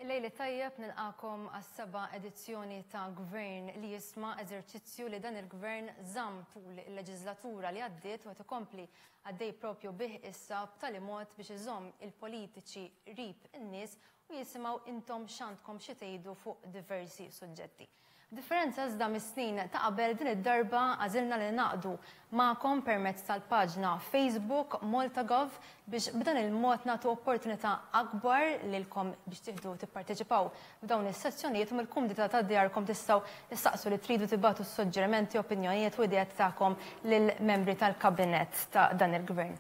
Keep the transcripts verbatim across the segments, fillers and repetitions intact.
Lejl it-tajjeb, nilqagħkom għas-seba' edizzjoni ta' Gvern li Jisma', eżerċizzju li dan il-gvern żamm tul il-leġislatura li għaddiet u ikompli għaddej propju bih issa, b'tali mod biex iżomm il-politiċi qrib in-nies u jisimgħu intom x'għandkom xi tgħidu fuq diversi suġġetti. Differenza iżda mis-snin ta' qabel, din id-darba għażilna li naqdu magħkom permezz tal-paġna Facebook MaltaGov biex b'dan il-mod nagħtu opportunità akbar lilkom biex tieħdu tipparteċipaw f'dawn is-sessjonijiet u mill-kumdità ta' djarkom tistgħu tistaqsu li tridu, tibagħtu suġġerimenti, opinjonijiet u ideat tagħkom lill-membri tal-kabinett ta' dan il-gvern.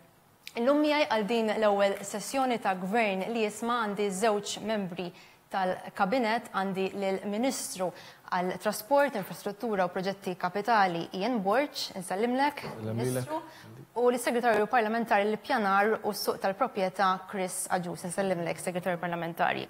Illum miegħi għal din l-ewwel sessjoni ta' Gvern li Jisma' għandi żewġ membri tal-kabinet: għandi lill-Ministru għal Trasport, Infrastruttura u Proġetti Kapitali Ian Borg, insellimlek, Ministru, u l-Segretarju Parlamentari l-Pjanar u s-Suq tal-Proprjetà Chris Agius, insellimlek, Segretarju Parlamentari.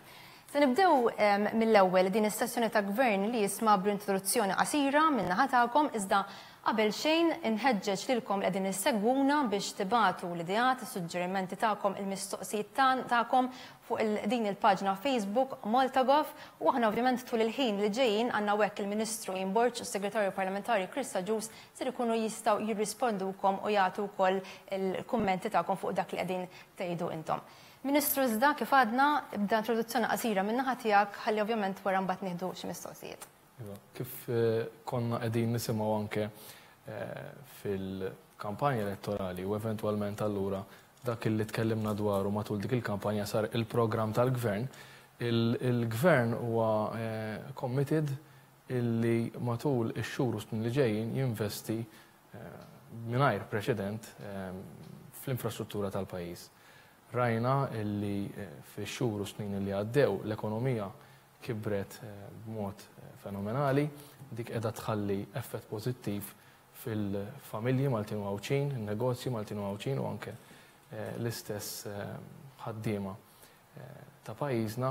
Se nibdew mill-ewwel din is-sessjoni ta' Gvern li Jisma' b'introduzzjoni qasira min-naħa tagħkom, iżda qabel xejn inħeġġeġ lilkom li qegħdin issegwuna biex tibagħtu l-ideat, is-suġġerimenti tagħkom, il-mistoqsijiet tagħkom fuq din il-paġna Facebook MaltaGov, u aħna ovvjament tul il-ħin li ġejjin għandna hekk il-Ministru Ian Borg u s-Segretarju Parlamentari Chris Agius ser ikunu jistgħu jirrispondukom u jagħtu wkoll il-kummenti tagħkom fuq dak li qegħdin tgħidu intom. Ministru, iżda kif għadna, ibda introduzzjoni qasira min-naħa tiegħek ħalli ovvjament wara mbagħad nieħdu xi mistoqsijiet. Iva, kif eh, konna qegħdin nisimgħu anke eh, fil-kampanja elettorali u eventwalment allura dak li tkellimna dwaru matul dik il-kampanja sar il-programm tal-gvern, il-gvern huwa eh, committed illi matul ix-xhur u snin li ġejjin jinvesti mingħajr preċedent fl-infrastruttura tal-pajjiż. Rajna illi fix-xhur u snin li għaddew l-ekonomija kibret b'mod fenomenali, dik qiegħda tħalli effett pożittiv fil-familji Maltin u Għawdxin, il-negozji Maltin u Għawdxin u anke l-istess ħaddiema ta' pajjiżna.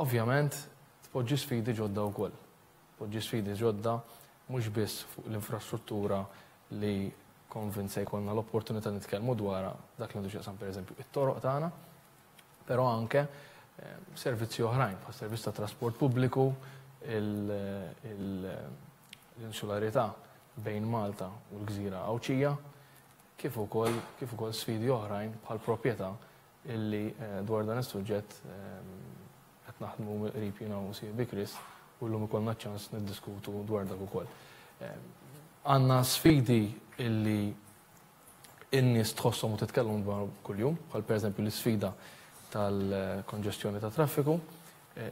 Ovvjament tpoġġi sfidi ġodda wkoll. Tpoġġi sfidi ġodda mhux biss fuq l-infrastruttura li konvint se jkollna l-opportunità nitkellmu dwarha, dak li għandu x'jaqsam, pereżempju, it-toroq tagħna, però anke servizzi oħrajn bħal servizz ta' trasport pubbliku, l-insularità bejn Malta u l-Gżira Għawdxija, kif ukoll kif ukoll sfidi oħrajn bħal proprjetà, illi dwar dan is-suġġett qed naħdmu mill-qrib jiena u sieħbi Chris u llum ikollna ċans niddiskutu dwar dak ukoll. Għandna sfidi illi in-nies tħosshom u titkellem dwar kuljum, bħal pereżempju l-isfida tal-konġestjoni ta' traffiku,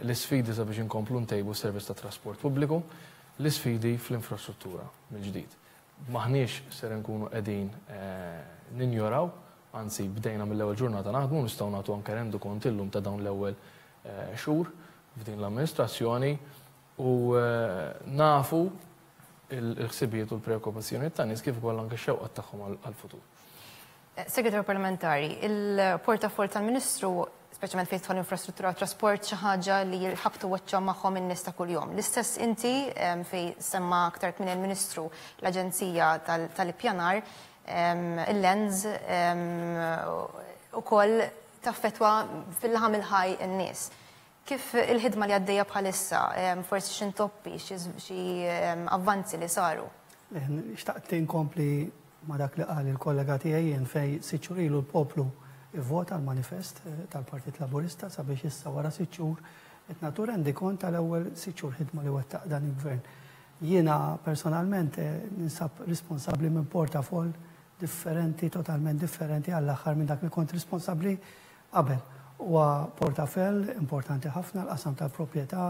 l-isfidi sabiex inkomplu ntejbu s-servizz ta' trasport pubbliku, l-isfidi fl-infrastruttura mill-ġdid. Maħniex ser nkunu qegħdin ninjoraw, anzi bdejna mill-ewwel ġurnata naħdmu, nistgħu nagħtu anke rendikont illum ta' dawn l-ewwel xhur f'din l-amministrazzjoni u nafu il-ħsibijiet u l-preokkupazzjonijiet tan-nies kif ukoll anke x-xewqat tagħhom għall-futur. Segretarju Parlamentari, il-portafol tal-Ministru, speċjalment fejn tidħol infrastruttura u trasport, xi ħaġa li jħabbtu wiċċhom magħhom in-nies ta' kuljum. L-istess inti, fejn semma aktar minn il-Ministru l-Aġenzija tal-Ippjanar, il-L A N S, ukoll taffetwa fil-laħam il-ħaj in-nies. Kif il-ħidma li għaddejja bħalissa, forsi x'intoppi, xi avvanzi li saru? Xtaqt inkompli ma dak li qal il-kollega tiegħi jien, fejn sitt xhur ilu l-poplu ivvota l-manifest tal-Partit Laburista sabiex issa wara sitt xhur qed nagħtu rendikont tal-ewwel sitt xhur ħidma li wettaq dan il-gvern. Jiena personalment ninsab responsabbli minn portafol differenti, totalment differenti għall-aħħar minn dak li kont responsabbli qabel. Huwa portafell importanti ħafna, l-qasam tal-proprjetà,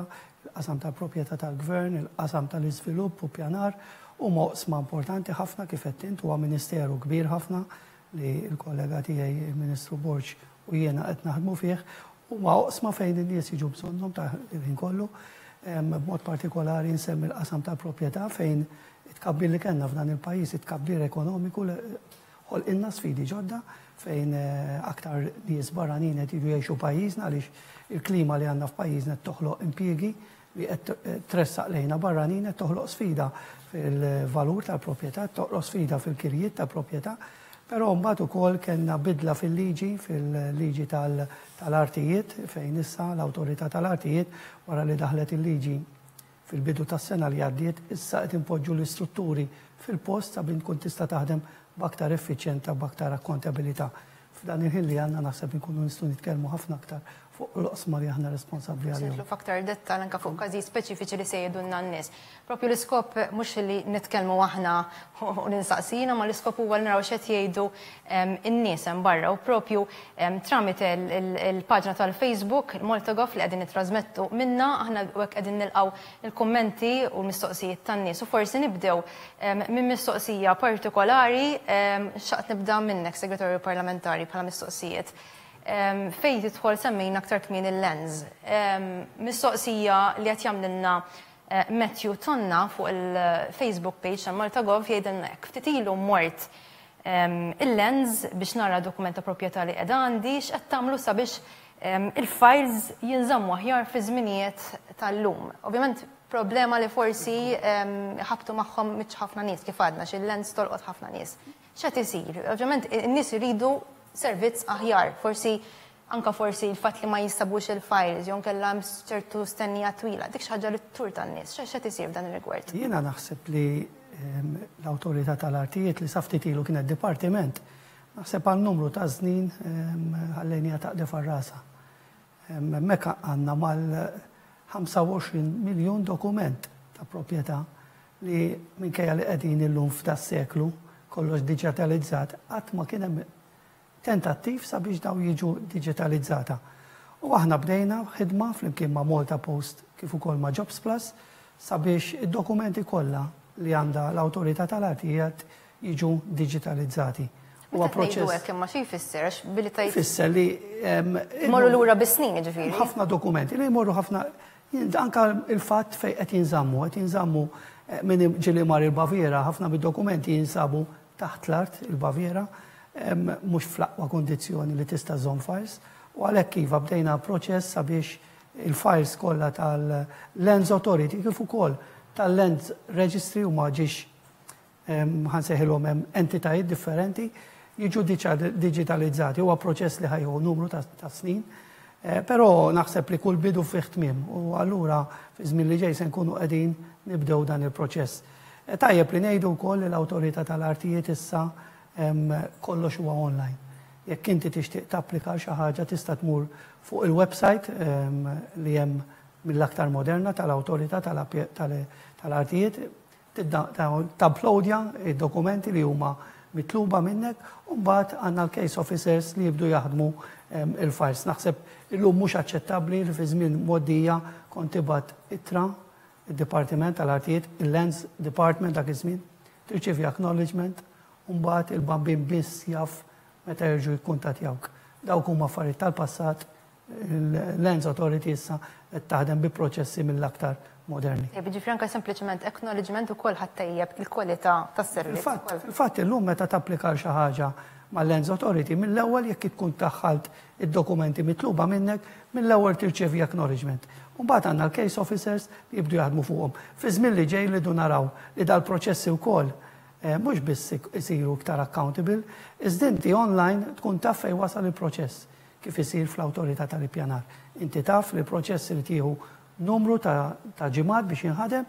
il-qasam tal-proprjetà tal-gvern, il-qasam tal-iżvilupp u pjanar, u oqsma importanti ħafna. Kif qed int, huwa ministeru kbir ħafna li l-kollega tiegħi il-Ministru Borg u jiena qed naħdmu fih, huwa oqsma fejn in-nies jiġu bżonnhom ta' il-ħin kollu. B'mod partikolari nsemmi l-qasam tal-proprjetà, fejn it-tkabbir li kellna f'dan il-pajjiż, it-tkabbir ekonomiku, ħolqilna sfidi ġodda fejn aktar nies barranin qed jiġu jgħixu pajjiżna, għaliex il-klima li għandna f'pajjiżna qed toħloq impjiegi li qed tressaq lejna barranin, qed toħloq sfida fil-valur tal-proprjetà, toħloq sfida fil-kirjiet tal-proprjetà. Però mbagħad ukoll kellna bidla fil-liġi, fil-liġi tal-artijiet, fejn issa l-Awtorità tal-Artijiet, wara li daħlet il-liġi fil-bidu tas-sena li għaddiet, issa qed impoġġu l-istrutturi fil-post sabiex tkun tista' taħdem b'aktar effiċjenza, b'aktar akkontabilità. F'dan il-ħin li għandna naħseb inkunu nistgħu nitkellmu ħafna aktar fuq l-oqsma li aħna responsabbli għalihom. Nidħlu f'aktar dettal anke fuq każi speċifiċi li se jgħidulna n-nies. Propju l-iskop mhux li nitkellmu aħna u ninsaqsina, ma l-iskop huwa li naraw x'qed jgħidu in-nies hemm barra, u propju tramite il-paġna tal-Facebook, il-MaltaGov, li qegħdin nittrażmettu minna, aħna hekk qegħdin nilqgħu il-kummenti u l-mistoqsijiet tan-nies. U forsi nibdew minn mistoqsija partikolari, xaqt nibda minnek, Segretarju Parlamentari, bħala mistoqsijiet. Fejn tidħol semmejna aktar kmin il-Lands. Mistoqsija li qed jagħmlilna eh, Matthew Tonna fuq il-Facebook page ta' MaltaGov, jgħidilna hekk: "Ftit ilu mort il-Lands biex nara dokument ta' proprjetà li qiegħda għandi. X'qed tagħmlu sabiex il-files jinżammu aħjar fi żminijiet tal-lum?" Ovvjament problema li forsi ħabtu magħhom miċ ħafna nies, kif għadna xil-Lands tolqot ħafna nies. X'qed isir? Ovvjament in-nies iridu servizz aħjar, forsi anka forsi il-fatt li ma jinstabux il-files, jew kellha ċertu stennija twila, dik xi ħaġa li tur tan-nies. X'qed isir f'dan ir-rigward? Jiena naħseb li l-Awtorità tal-Artijiet, li sa ftit ilu kienet dipartiment, naħseb għal numru ta' snin ħallejniha taqdef rasha. Mekka għandna mal-ħamsa u għoxrin miljun dokument ta' proprjetà li, minkejja li qegħdin illum f'da seklu kollox digitalizzat, qatt ma kien hemm tentattiv sabiex daw jiġu digitalizzata. U aħna bdejna ħidma flimkien ma' Malta Post kif ukoll ma' Jobs Plus sabiex id-dokumenti kollha li għandha l-Awtorità tal-Artijiet jiġu digitalizzati. Huwa proċess. Hekk, imma xi jfisser billi tajt? Jfisser li Morru lura bis-snin, ġifieri. Ħafna dokumenti li jmorru ħafna, anka il-fatt fejn qed jinżammu, qed jinżammu eh, minn ġieli mar il-Baviera, ħafna mid-dokumenti jinsabu taħt l-art il-Baviera, mhux fl-aqwa kondizzjoni li tista' żomm files, u għalhekk iva, bdejna proċess sabiex il-files kollha tal-Lands Authority kif ukoll tal-Lands Registry, u ma ġiex ħa nsejħilhom hemm entitajiet differenti, jiġu digitalizzati. Huwa proċess li ħa jieħu numru ta' snin, eh, però naħseb li kull bidu fih tmiem u allura fi żmien li ġej se nkunu qegħdin nibdew dan il-proċess. Eh, tajjeb li ngħidu wkoll li l-Awtorità tal-Artijiet issa kollox huwa online. Jekk inti tixtieq tapplika xi ħaġa, tista' tmur fuq il-website li hemm mill-aktar moderna tal-Awtorità tal-Artijiet, tapplodja id-dokumenti li huma mitluba minnek, u mbagħad għandna l-case officers li jibdu jaħdmu il-files. Naħseb illum mhux aċċettabbli li fi żmien mgħoddija kont tibgħat ittra id-Dipartiment tal-Artijiet, il-Lands Department dak iż-żmien, tirċievi acknowledgement, u mbagħad il-bambin biss jaf meta jerġgħu jikkuntattjawk. Dawk huma affarijiet tal-passat, il-Lands Authority issa qed taħdem bi proċessi mill-aktar moderni. Ġifieri anke sempliċement acknowledgement ukoll ħa ttejjeb il-kwalità tas-servizz. Fil-fatt illum meta tapplika xi ħaġa mal-Lands Authority, mill-ewwel, jekk tkun daħħalt id-dokumenti mitluba minnek, mill-ewwel tirċevi acknowledgement. U mbagħad għandna l-case officers li jibdu jaħdmu fuqhom. Fi żmien li ġej li naraw li dal-proċessi wkoll eh, mhux biss isiru iktar accountable, iżda inti online tkun taf fejn wasal il-proċess, kif isir fl-Awtorità tal-Ippjanar. Inti taf li l-proċess li tieħu numru ta' ġimgħat biex jinħadem,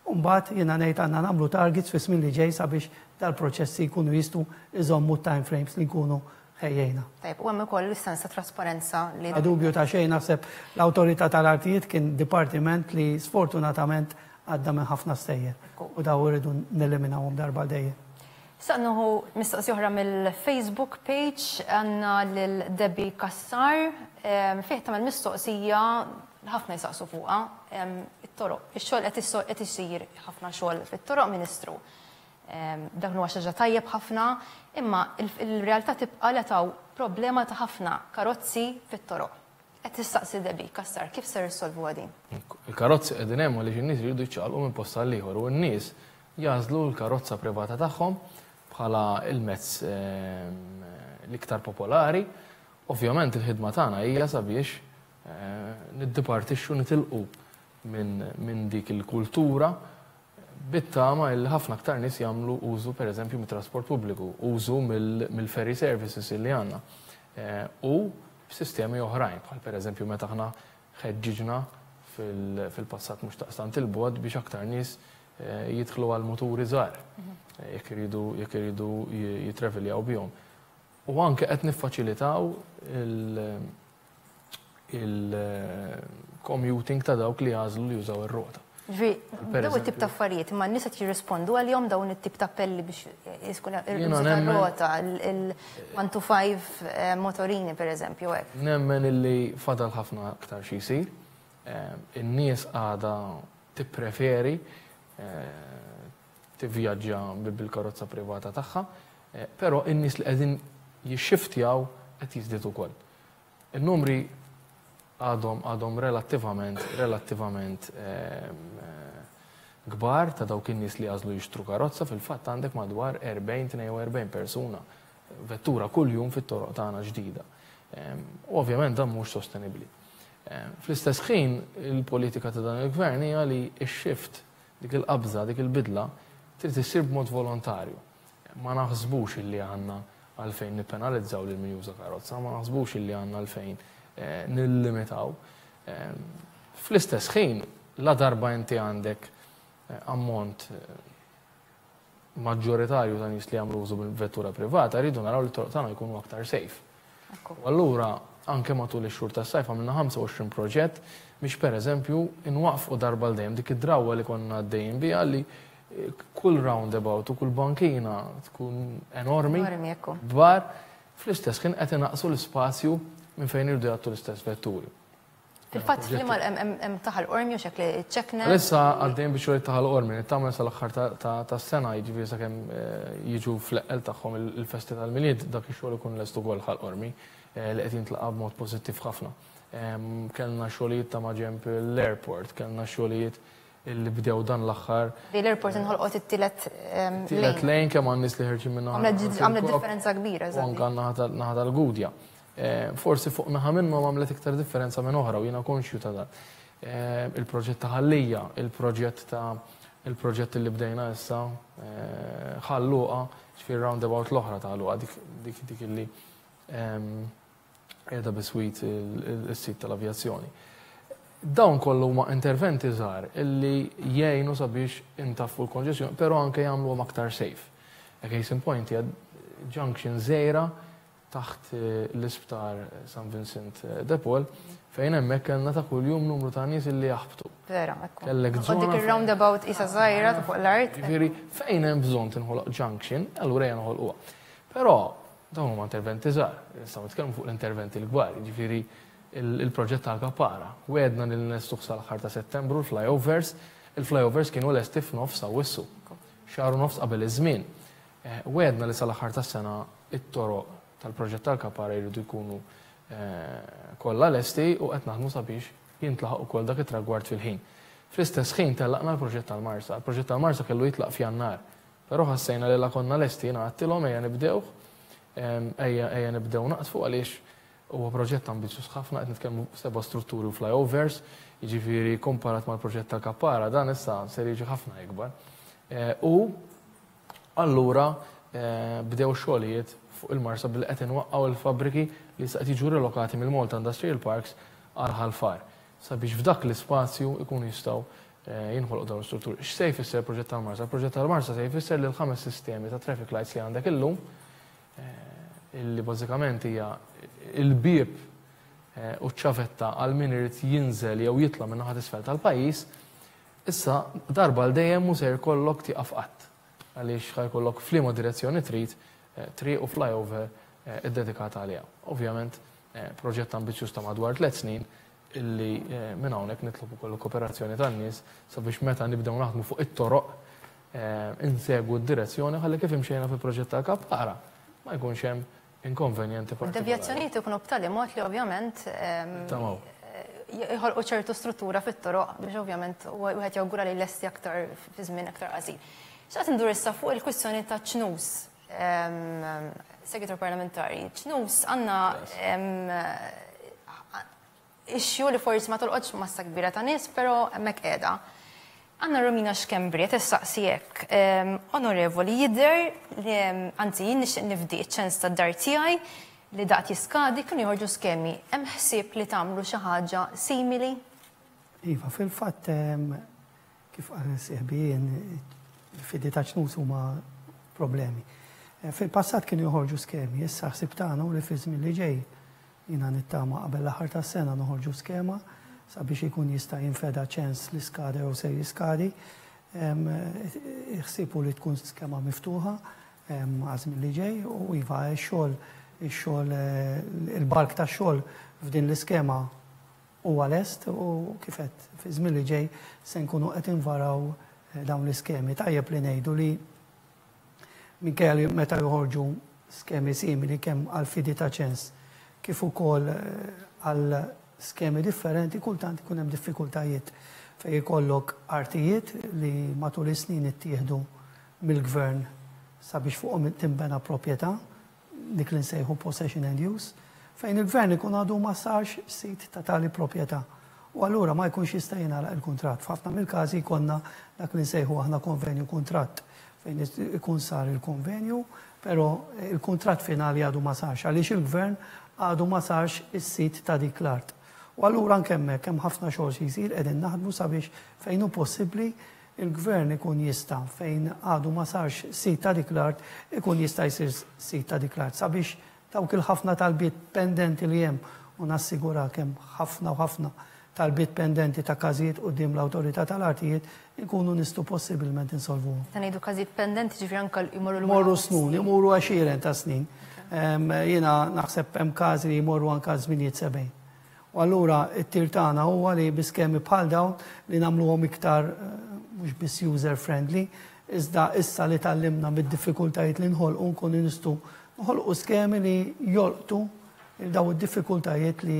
u mbagħad jiena ngħid għandna nagħmlu targets fi żmien li ġej sabiex dal-proċessi jkunu jistgħu iżommu time frames li nkunu ħejjejna. Tajb, u hemm ukoll is-sens ta' trasparenza li Bla dubju ta' xejn, naħseb l-Awtorità tal-Artijiet kien dipartiment li sfortunatament għadda minn ħafna stejjer. U daw irridu neliminawhom darba dejjem. Sa nieħu mistoqsija oħra mill-Facebook page, għandna lil Debbie Kassar, fih tagħmel mistoqsija ħafna jisaqsu fuqha, it-toroq. Ix-xogħol qed isir ħafna xogħol fit-toroq, Ministru. Dak huwa xi ħaġa tajjeb ħafna, imma il-realtà tibqa' li taw problema ta' ħafna karozzi fit-toroq. Qed tistaqsi Debbie Kassar kif ser issolvu din. Il-karozzi qegħdin hemm għaliex in-nies jridu jiċċaqalqu minn post għal ieħor u n-nies jagħżlu l-karozza privata tagħhom bħala il-mezz l-iktar popolari. Ovvjament il-ħidma tagħna hija sabiex eh, niddipartixxu, nitilqu minn dik il-kultura Bit-tama li ħafna aktar nies jagħmlu użu, pereżempju, mit-trasport pubbliku, użu mill-ferry services li għandna. U b'sistemi oħrajn, bħal pereżempju meta aħna ħeġġiġna fil-passat mhux taqstant il-bogħod biex aktar nies jidħlu għal muturi żgħar jekk iridu jekk iridu jitraveljaw bihom. U anke qed niffaċilitaw il-commuting ta' dawk li jagħżlu li jużaw ir-rota. Ġifieri, dawn it-tip ta' affarijiet, imma n-nies qed jirrispondu għalihom dawn it-tip ta' appelli biex jiskun rota, il-one to five motorini pereżempju hekk. Nemmen illi fadal ħafna aktar xi jsir. In-nies għadha tippreferi tivvjaġġa bil-karozza privata tagħha, però in-nies li qegħdin jixxiftjaw qed jiżdied ukoll. In-numri għadhom għadhom relattivament relattivament kbar ta' dawk in-nies li għażlu jixtru karozza. Fil-fatt għandek madwar erbgħin tnejn u erbgħin persuna vettura kuljum fit-toroq tagħna ġdida. U ovvjament dan mhux sostenibbli. Fl-istess ħin il-politika ta' dan il-gvern hija li x-shift, dik il-qabża, dik il-bidla, trid issir b'mod volontarju. Ma naħsbux illi għandna għalfejn nippenalizzaw lil min juża karozza, ma naħsbux illi għandna għalfejn nillimitaw. Fl-istess ħin, la darba inti għandek ammont maġġoritarju ta' nies li jagħmlu użu bil-vettura privata, rridu naraw li t-toroq tagħna jkunu aktar safe. U allura anke matul ix-xhur tas-sajf għamilna ħamsa u għoxrin proġett biex pereżempju inwaqfu darba l dejjem dik id-drawwa li konna għaddejjin biha li kull roundabout u kull bankina tkun enormi, Enormi, ekku. kbar, fl-istess ħin qed inaqsu l-ispazju minn fejn irdu jgħattu l-istess vetturi. Fil-fatt, fl-imma hemm taħal Qormi u xekli ċekna. Issa għaddejn biex xogħol taħal Qormi, nittama sal-aħħar tas-sena, jiġifieri sakemm jiġu fl-eqqel tagħhom il-festi tal-Milied, dak ix-xogħol ikun lest ukoll ħal Qormi li qed jintlaqa' b'mod pożittiv ħafna. Kellna xogħlijiet ta' maġenb l-airport, kellna xogħlijiet illi bdew dan l-aħħar. Di l-airport inħolqot it-tielet Tielet lejn kemm għan nies li ħerġin minn naħa Għamlet tal-Kok għamlet differenza kbira, u eżatt. anke naħa naħa tal-Gudja. Forsi fuq naħa minnhom għamlet iktar differenza minn oħra u jiena konxju ta' dan. Il-proġett ta' Ħal Lija, il-proġett ta' il-proġett li bdejna issa Ħal Luqa, ġifieri roundabout l-oħra ta' Ħal Luqa, dik, dik, dik illi qiegħda biswit il-sit tal-avjazzjoni. Dawn kollu huma interventi żgħar illi jgħinu sabiex intaffu l-konġestjoni, però anke jagħmluhom aktar safe. A case in point hija junction żgħira taħt l-isptar San Vincent de Paul, fejn hemmhekk kellna ta' kuljum numru ta' nies illi jaħbtu. Vera, ekku. Kellek U dik żona ir-roundabout isa żgħira ta' fuq l-art. Ġifieri fejn hemm bżonn tinħoloq junction, allura ejja noħolquha. Però dawn huma interventi żgħar, nistgħu nitkellmu fuq l-interventi l-kbar, jiġifieri il-proġett tal-Kappara. Wedna li nlestuh sal-aħħar ta' Settembru l-flyovers, il-flyovers kienu lesti f'nofs Awwissu, xahar u nofs qabel iż-żmien. Wedna li sal-aħħar tas-sena it-toroq tal-proġett tal-Kappara jridu jkunu kollha lesti u qed naħdmu sabiex jintlaħaq ukoll dak it-tragward fil-ħin. Fl-istess ħin tellaqna l-proġett tal-Marsa. Il-proġett tal-Marsa kellu jitlaq f'Jannar, però ħassejna li la konna lesti jiena għedtilhom ejja nibdewh, ejja, ejja nibdew naqtfu għaliex huwa proġett ambizzjuż ħafna, qed nitkellmu seba' strutturi u flyovers, jiġifieri komparat mal-proġett tal-Kappara dan issa ser jiġi ħafna ikbar. U allura bdew xogħlijiet fuq il-Marsa billi qed inwaqqgħu l-fabbriki li issa qed jiġu relokati mill-Malta Industrial Parks għal Ħal Far, sabiex f'dak l-ispazju ikunu jistgħu jinħolqu dawn l-istrutturi. X'se jfisser il-proġett tal-Marsa? Il-proġett tal-Marsa se jfisser li l-ħames sistemi ta' traffic lights li għandek illum, illi bażikament hija il-bieb u ċ-ċavetta għal min irid jinżel jew jitla' minn naħa t'isfel tal-pajjiż, issa darba l dejjem mhu se jkollok tieqaf qatt. Għaliex ħajkollok f'liema direzzjoni trid triq u flyover iddedikata għaliha. Ovvjament, proġett ambizzjuż ta' madwar tliet snin illi minn hawnhekk nitlob ukoll kooperazzjoni tan-nies sabiex meta nibdew naħdmu fuq it-toroq insegwu d-direzzjoni ħalli kif imxejna fil-proġett tal-Kappara ma jkunx hemm inkonvenjenti partikolari. Devjazzjonijiet ikunu b'tali mod li ovvjament, ehm, Tamaw. jħolqu ċertu struttura fit-toroq biex ovvjament wieħed jawgura li lesti aktar fi żmien aktar qasir. X'qed indur issa fuq il-kwistjoni ta' ċnus, ehm, segretar parlamentari. Ċnus għandna, ehm, issue li forsi ma tolqotx massa kbira ta' nies, però hemmhekk qiegħda. Għandna Romina Schembri, qed issaqsi hekk. Onorevoli, jidher li, anzi, jien nixtieq nifdi ċ-ċens tad-dar tiegħi li daqt jiskadi, kienu joħorġu skemi. Hemm ħsieb li tagħmlu xi ħaġa simili? Iva, fil-fatt, kif qal sieħbi, il-fidi ta' ċnus huma problemi. Fil-passat kienu joħorġu skemi, issa ħsieb tagħna li fi żmien li ġej, jiena nittama qabel l-aħħar tas-sena, noħorġu skema sabiex ikun jista' jinfeda ċens li skade u se jiskadi. Ħsibu li tkun skema miftuħa għaż-żmien li ġej u iva, x-xogħol, ix-xogħol, il-bulk tax-xogħol f'din l-iskema huwa lest u kif għedt, fi żmien li ġej se nkunu qed invaraw dawn l-iskemi. Tajjeb li ngħidu li minkejja li meta joħorġu skemi simili kemm għal fidi ta' ċens kif ukoll għal skemi differenti, kultant ikun hemm diffikultajiet fejn ikollok artijiet li matul is-snin ittieħdu mill-gvern sabiex fuqhom timbena proprjetà, dik li nsejħu possession and use, fejn il-gvern ikun għadu ma sarx sit ta' tali proprjetà. U allura ma jkunx jista' jingħalaq il-kuntratt. F'ħafna mill-każi jkollna dak li nsejħu aħna konvenju kuntratt, fejn ikun sar il-konvenju, però il-kuntratt finali għadu ma sarx, għaliex il-gvern għadu ma sarx is-sit ta' dik l-art. U allura anke hemmhekk hemm ħafna xogħol xi jsir, qegħdin naħdmu sabiex fejn hu possibbli il-gvern ikun jista', fejn għadu ma sarx sit ta' dik l-art, ikun jista' jsir sit ta' dik l-art sabiex dawk il-ħafna talbiet pendenti li hemm, u nassigura kemm ħafna u ħafna talbiet pendenti ta' każijiet quddiem l-awtorità tal-artijiet, ikunu nistgħu possibilment insolvuhom. Ta' ngħidu każijiet pendenti, ġifieri anke jmorru lura. Jmorru snin, jmorru għexieren ta' snin. Jiena naħseb hemm każi li jmorru anke żminijiet sebgħin. U allura it-tir tagħna huwa li bi skemi bħal dawn li nagħmluhom iktar mhux biss user friendly, iżda issa li tgħallimna mid-diffikultajiet li nħolqu nkunu nistgħu nħolqu skemi li jolqtu daw id-diffikultajiet li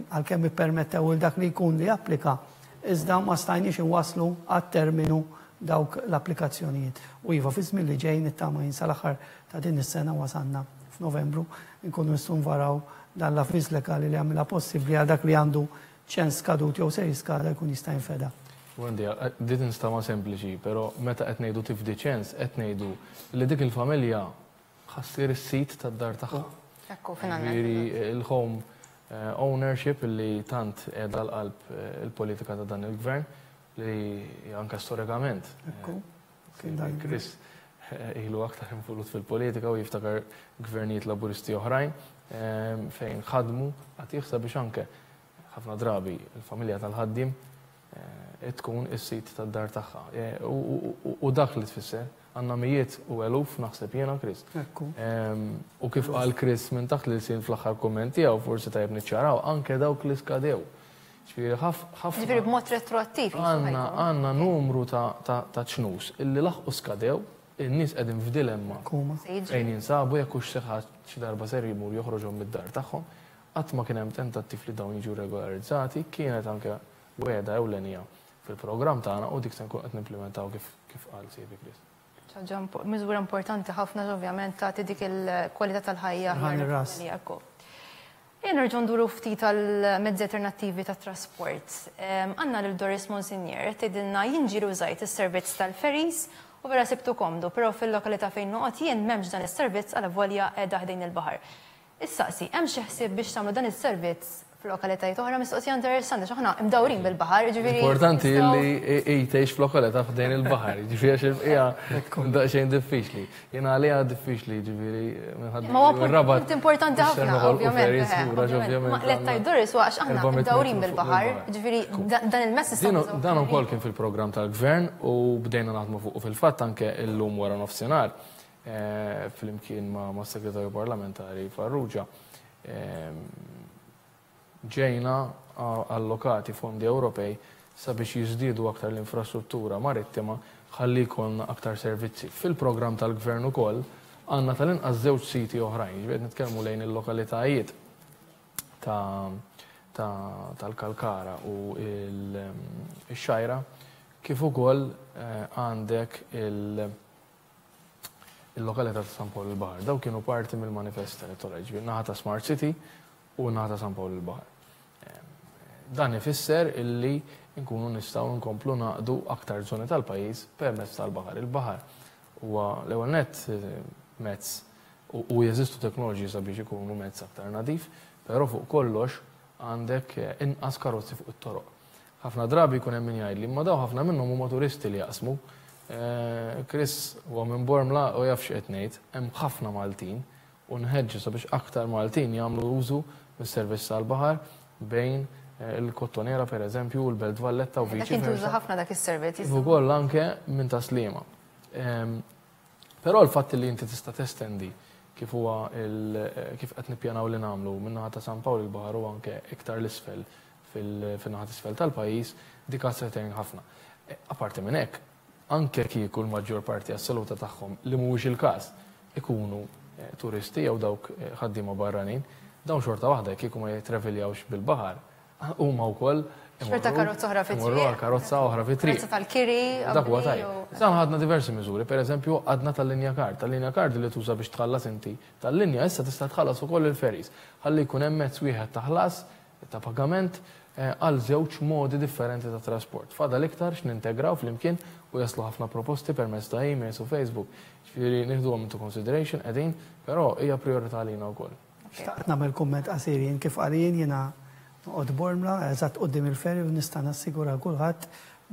għalkemm ippermettew il dak li jkun li applika, iżda ma stajniex inwasslu għat-terminu dawk l-applikazzjonijiet. U iva, fi żmien li ġej, nittama jien sal-aħħar ta' din is-sena, wasanna f'Novembru, nkunu nistgħu nvaraw dan l-avviż legali li għamilha possibbli għal dak li għandu ċens skadut jew se jiskada jkun jista' jinfeda. Wendy, din tinstama sempliċi, però meta qed ngħidu tifdi ċens, qed ngħidu li dik il-familja ħa ssir is-sit tad-dar tagħha. Ekku, finalment. Ġifieri il-home eh, ownership li tant qiegħda l-qalb eh, il-politika ta' dan il-gvern li anke storikament. Ekku. Eh, Chris ilu aktar involut fil-politika u jiftakar gvernijiet Laburisti oħrajn fejn ħadmu qatigħ sabiex anke ħafna drabi il-familja tal-ħaddiem tkun is-sit tad-dar tagħha. U dak li tfisser għandna mijiet u eluf, naħseb jiena, Chris. Ekku. U kif qal Chris minn taħt li sin fl-aħħar kumment tiegħu, forsi tajjeb niċċaraw anke dawk li skadew. Ġifieri ħafna. Ġifieri b'mod retroattiv. Għandna għandna numru ta' ċnus illi laħqu skadew, in-nies qegħdin f'dilemma. Fejn jinsabu, jekk hux xi xi darba ser jmur joħroġhom mid-dar tagħhom. Qatt ma kien hemm tentattiv li dawn jiġu regolarizzati, kienet anke wegħda ewlenija fil-programm tagħna u dik se nkun qed nimplementaw kif kif qal sieħbi Chris. Ħaġa miżura importanti ħafna, ovvjament tagħti dik il-kwalità tal-ħajja. Ejja nerġgħu nduru ftit għal mezzi alternattivi ta' trasport. Għandna lil Doris Monsignor tgħidilna: jien ġieli użajt is-servizz tal-ferries u vera sibtu komdu, però fil-lokalità fejn noqgħod jien m'hemmx dan is-servizz għalavolja qiegħda ħdejn il-baħar. Issaqsi, hemm xi ħsieb biex tagħmlu dan is-servizz f'lokalitajiet oħra? Mistoqsija interessanti, x'aħna imdawrin bil-baħar, ġifieri. Importanti li tgħix f'lokalità ħdejn il-baħar, ġifieri għax il-bqija daqsxejn diffiċli. Jiena għalija diffiċli, ġifieri minħabba. Ma huwa punt importanti ħafna, ovvjament. Ma lettaj Doris għax aħna imdawrin bil-baħar, ġifieri dan il-mess. Dan ukoll kien fil-programm tal-gvern u bdejna naħdmu fuq fil-fatt anke illum wara nofsinhar eh, flimkien ma' segretarju parlamentari Farrugia ġejna allokati fondi Ewropej sabiex jiżdiedu aktar l-infrastruttura marittima ħalli jkollna aktar servizzi. Fil-programm tal-gvern ukoll għandna tal-inqas żewġ siti oħrajn, ġifieri nitkellmu lejn il-lokalitajiet tal-Kalkara u il-Xgħajra, kif ukoll eh, għandek il-lokalità ta' San Pawl il-Baħar. Daw kienu parti mill-manifest elettorali, ġifieri naħa ta' Smart City u naħa ta' San Pawl il-Baħar. Dan ifisser illi nkunu nistgħu nkomplu naqdu aktar żoni tal-pajjiż permezz tal-baħar. Il-baħar huwa l-ewwel nett mezz u jeżistu teknoloġiji sabiex ikunu mezz aktar nadif, però fuq kollox għandek inqas karozzi fuq it-toroq. Ħafna drabi jkun hemm min jgħidli, imma daw ħafna minnhom huma turisti li jaqsmu. Chris huwa minn Bormla u jaf x'qed ngħid, hemm ħafna Maltin u nħeġġu sabiex aktar Maltin jagħmlu użu mis-servizz tal-baħar bejn il-Kottonera per eżempju u l-Belt Valletta u viċi. Dak jintuża ħafna dak is-servizz. Ukoll anke minn Taslima. Però l-fatt li inti tista' testendi kif huwa kif qed nippjanaw li nagħmlu min-naħa ta' San Pawl il-Baħar u anke iktar l-isfel fin-naħa t'isfel tal-pajjiż, dik se tgħin ħafna. Apparti minn hekk, anke kieku l-maġġor parti assoluta tagħhom li mhuwiex il-każ ikunu turisti jew dawk ħaddiema barranin, dawn xorta waħda kieku ma jitreviljawx bil-baħar, huma wkoll xorta karozza oħra fit-triq. Karozza oħra fit-triq. Karozza tal-kiri. Dak huwa tajjeb. Issa ħadna diversi miżuri, pereżempju għadna tal-linja kard, tal-linja kard li tuża biex tħallas inti tal-linja issa tista' tħallas ukoll il-ferries. Ħalli jkun hemm mezz wieħed ta' ħlas ta' pagament għal żewġ modi differenti ta' trasport. Fadal iktar x'nintegraw flimkien u jaslu ħafna proposti permezz ta' emails u Facebook. Ġifieri nieħduhom into consideration qegħdin, però hija priorità għalina wkoll. Xtaqt nagħmel kumment qasir jien kif qalin jiena noqgħod Bormla, eżatt quddiem il-ferry u nista' nassigura kulħadd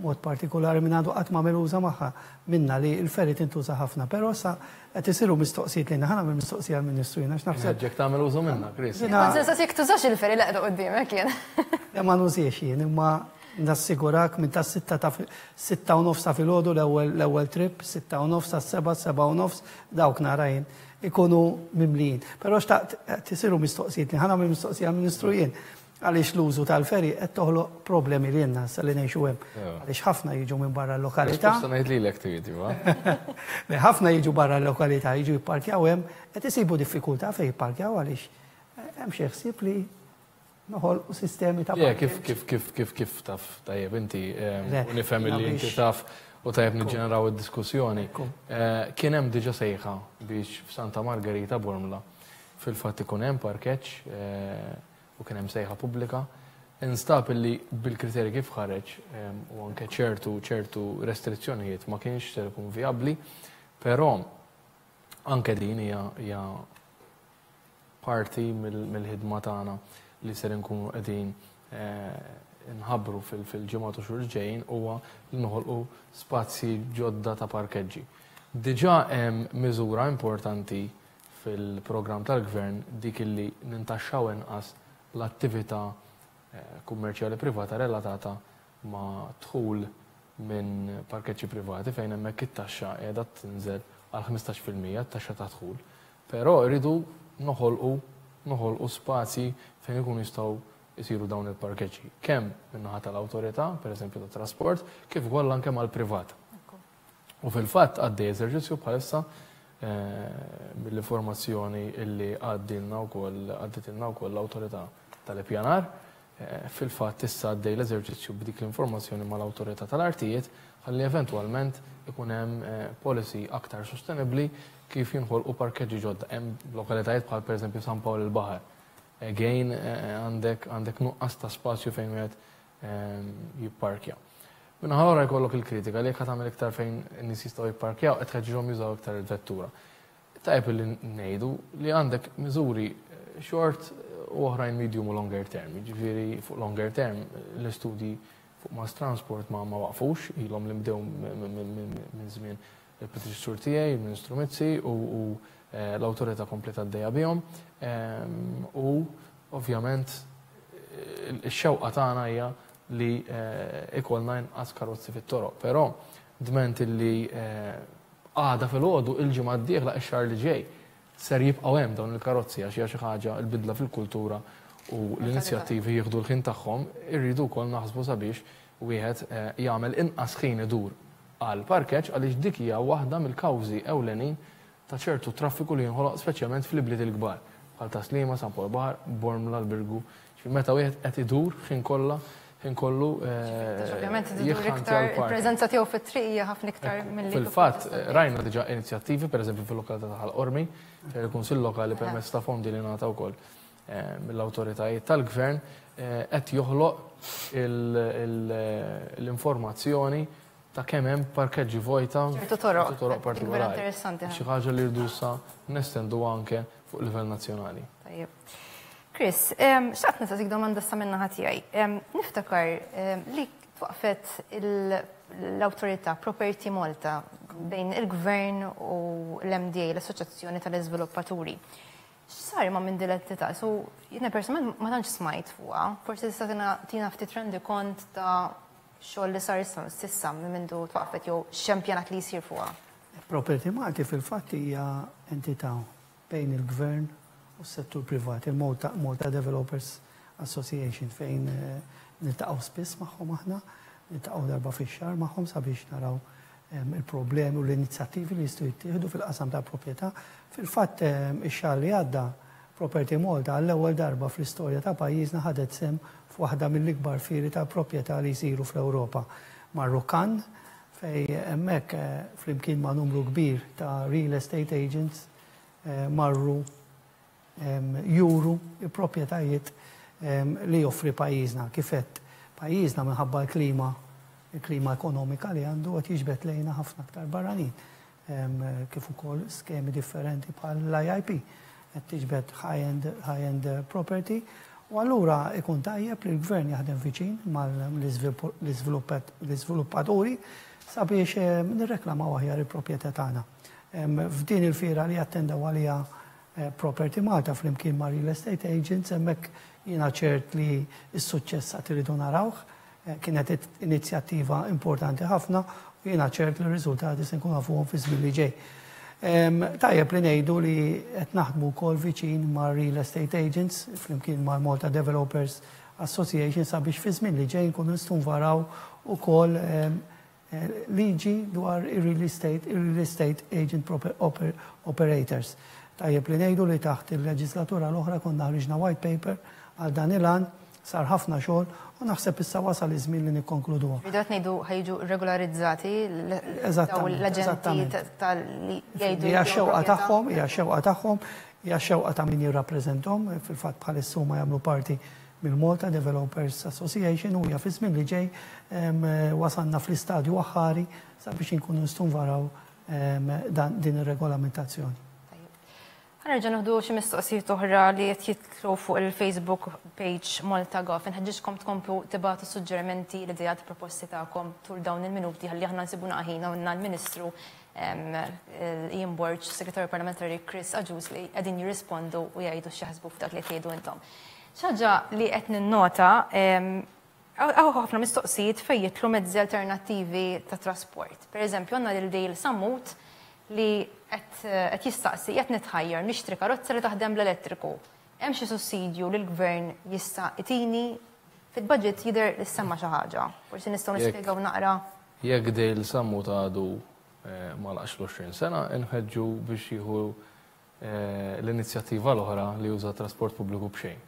mod partikolari minn għadu qatt ma meluża magħha minna li l-ferry tintuża ħafna, però sa qed isiru mistoqsijiet lejna, ħa nagħmel mistoqsija għall-Ministru jiena għax naħseb. Ħeġġek tagħmel użu minnha, Chris. Kont se jekk tużax il-ferry li qiegħda quddiemek jien. Le ma nużiex jien, imma nassigurak minn ta' sitta ta' sitta u nofs ta' filgħodu l-ewwel trip, sitta u nofs sas-seba', seba' u nofs, dawk nara jien ikunu mimlijin. Però xtaqt qed isiru mistoqsijiet li ħa nagħmel mistoqsija għall-Ministru jien. Għaliex l-użu tal-ferry qed toħloq problemi li jenna sa li ngħixu hemm. Għaliex ħafna jiġu minn barra l-lokalità. Risposta ngħid lilek trid, iva. Le ħafna jiġu barra l-lokalità, jiġu jipparkjaw hemm, qed isibu diffikultà fejn jipparkjaw għaliex hemm xi ħsieb li noħolqu sistemi ta' kif kif kif kif kif taf tajjeb inti u nifhem li inti taf u tajjeb niġġeneraw id-diskussjoni. Kien hemm diġà sejħa biex f'Santa Margherita Bormla fil-fatt ikun hemm parkeġġ u kien hemm sejħa pubblika. Instab illi bil-kriterji kif ħareġ u anke ċertu ċertu restrizzjonijiet ma kienx ser ikun vijabbli, però anke din hija hija parti mill-ħidma tagħna li ser inkunu qegħdin nħabbru fil-ġimgħat u xhur ġejjin huwa li noħolqu spazji ġodda ta' parkeġġi. Diġà hemm miżura importanti fil-programm tal-gvern dik illi nintaxxaw inqas l-attività kummerċjali privata relatata ma' dħul minn parkeġġi privati fejn hemmhekk it-taxxa qiegħda tinżel għal ħmistax fil-mija t-taxxa ta' dħul. Però rridu noħolqu noħolqu spazji fejn ikunu jistgħu jsiru dawn il-parkeġġi. Kemm min-naħa tal-awtorità, pereżempju tat-trasport, kif ukoll anke mal-privat. U fil-fatt għaddej eżerċizzju bħalissa mill-informazzjoni illi għaddilna wkoll għadditilna wkoll l-awtorità tal-ippjanar. Fil-fatt issa għaddej l-eżerċizzju b'dik l-informazzjoni mal-awtorità tal-artijiet ħalli eventwalment ikun hemm policy aktar sostenibbli kif jinħolqu parkeġġi ġodda. Hemm lokalitajiet bħal pereżempju San Pawl il-Baħar. Again għandek għandek nuqqas ta' spazju fejn wieħed jipparkja. Minna ħalora jkollok il-kritika li jekk tagħmel iktar fejn in-nies jistgħu jipparkjaw qed tħeġġihom jużaw iktar il-vettura. Tajjeb li ngħidu li għandek miżuri short u oħrajn medium u longer term. Jiġifieri fuq longer term l-istudji fuq mass transport ma ma waqfux, ilhom li bdew minn żmien il-predeċessur tiegħi, il-Ministru Mizzi, u l-awtorità kompleta għaddejja bihom. U ovvjament ix-xewqa tagħna hija li ikollna inqas karozzi fit-toroq, però dment li għada fil-għodu il-ġimgħa d-dieħla ix-xahar li ġej ser jibqgħu hemm dawn il-karozzi għax hija xi ħaġa l-bidla fil-kultura u l-inizjattivi jieħdu l-ħin tagħhom, irridu wkoll naħsbu sabiex wieħed jagħmel inqas ħin idur għal parkeġġ għaliex dik hija waħda mill-kawżi ewlenin ta' ċertu traffiku li jinħoloq speċjalment fl-ibliet il-kbar bħal Taslima, San Pawl Baħar, Bormla, l-Birgu. Meta wieħed qed idur ħin kollha ħin kollu ovvjament idur iktar il-preżenza tiegħu fit-triq hija ħafna iktar milli fil-fatt rajna diġà inizjattivi pereżempju fil-lokalità ta' Ħal Qormi fejn il-Kunsill Lokali permezz ta' fondi li ngħata wkoll mill-awtoritajiet tal-gvern qed joħloq l-informazzjoni ta' kemm hemm parkeġġi vojta ċertu toroq toroq partikolari. Interessanti. Xi ħaġa li rridu sa nestendu anke fuq livell nazzjonali. Tajjeb. Chris, xtaqt nistaqsik domanda sa min-naħa tiegħi. Niftakar li twaqfet l-awtorità Property Malta bejn il-Gvern u l-M D A, l-Assoċjazzjoni tal-Iżviluppaturi. X'sar ma' minn din l-entità? So, jiena personalment ma tantx smajt fuqha. Forsi tista' tina ftit rendikont ta' xogħol li sar s'issa minn mindu twaqfet jew x'hemm pjanat li jsir fuqha. Property Malta fil-fatt hija entità bejn il-Gvern u s-settur privat, il-Malta Malta Developers Association, fejn niltaqgħu spiss magħhom aħna, niltaqgħu darba fix-xahar magħhom sabiex naraw il-problemi u l-inizjattivi li jistgħu jittieħdu fil-qasam tal-proprjetà. Fil-fatt, ix-xahar li għadda, Property Malta għall-ewwel darba fl-istorja ta' pajjiżna ħadet sehem f'waħda mill-ikbar fieri ta' proprjetà li jsiru fl-Ewropa. Marru Cannes, fej hemmhekk flimkien ma' numru kbir ta' real estate agents marru juru il-proprjetajiet li joffri pajjiżna. Kif għedt, pajjiżna minħabba l-klima il-klima ekonomika li għandu qed jiġbed lejna ħafna aktar barranin, kif ukoll skemi differenti bħal l-I I P qed tiġbed high-end high-end property, u allura ikun tajjeb li l-gvern jaħdem viċin mal-iżviluppaturi sabiex nirreklamaw aħjar il-proprjetà tagħna. F'din il-fiera li attendaw għalija Property Malta flimkien ma' Real Estate Agents, hemmhekk jiena ċert li s-suċċess għad iridu narawh. Kienet inizjattiva importanti ħafna u jiena ċert li r-riżultati se nkunu nafuhom fi żmien li ġej. Tajjeb li ngħidu li qed naħdmu wkoll viċin ma' Real Estate Agents flimkien ma' Malta Developers Association sabiex fi żmien li ġej nkunu nistgħu nvaraw ukoll liġi dwar ir-real estate, ir-real estate agent operators. Tajjeb li ngħidu li taħt il-leġislatura l-oħra konna ħriġna white paper għal dan il-għan, sar ħafna xogħol u naħseb issa wasal iż-żmien li nikkonkluduha. Rridu qed ngħidu ħa jiġu regolarizzati l-aġenti tal-li jgħidu. Hija xewqa tagħhom, hija xewqa tagħhom, hija xewqa ta' min jirrappreżentahom, fil-fatt bħalissa huma jagħmlu parti mill-Malta Developers Association, u hija fi żmien li ġej wasalna fl-istadju aħħari sabiex inkunu nistgħu nvaraw din ir-regolamentazzjoni. Ħa nerġa' nieħdu xi mistoqsijiet oħra li qed jidħlu fuq il-Facebook page Malta Gov. Inħeġġiġkom tkomplu tibagħtu suġġerimenti, l-ideat, proposti tagħkom tul dawn il-minuti ħalli aħna nsibu ħin u l-Ministru Ian Borg, Segretarju Parlamentari Chris Agius li qegħdin jirrispondu u jgħidu x'jaħsbu f'dak li tgħidu intom. Xi ħaġa li qed ninnota, hawn ħafna mistoqsijiet fejn jidħlu mezzi alternattivi ta' trasport. Per eżempju, għandna lil Dale Sammut li qed jistaqsi: qed nitħajjar nixtri karozza li taħdem bl-elettriku. Hemm xi sussidju li l-gvern jista' itini? Fil-budget jidher li semma xi ħaġa. Forsi nistgħu nispjegaw naqra. Jekk Dale Sammut għadu ma laqx l-għoxrin sena, inħeġġu biex jieħu l-inizjattiva l-oħra li juża trasport pubbliku b'xejn.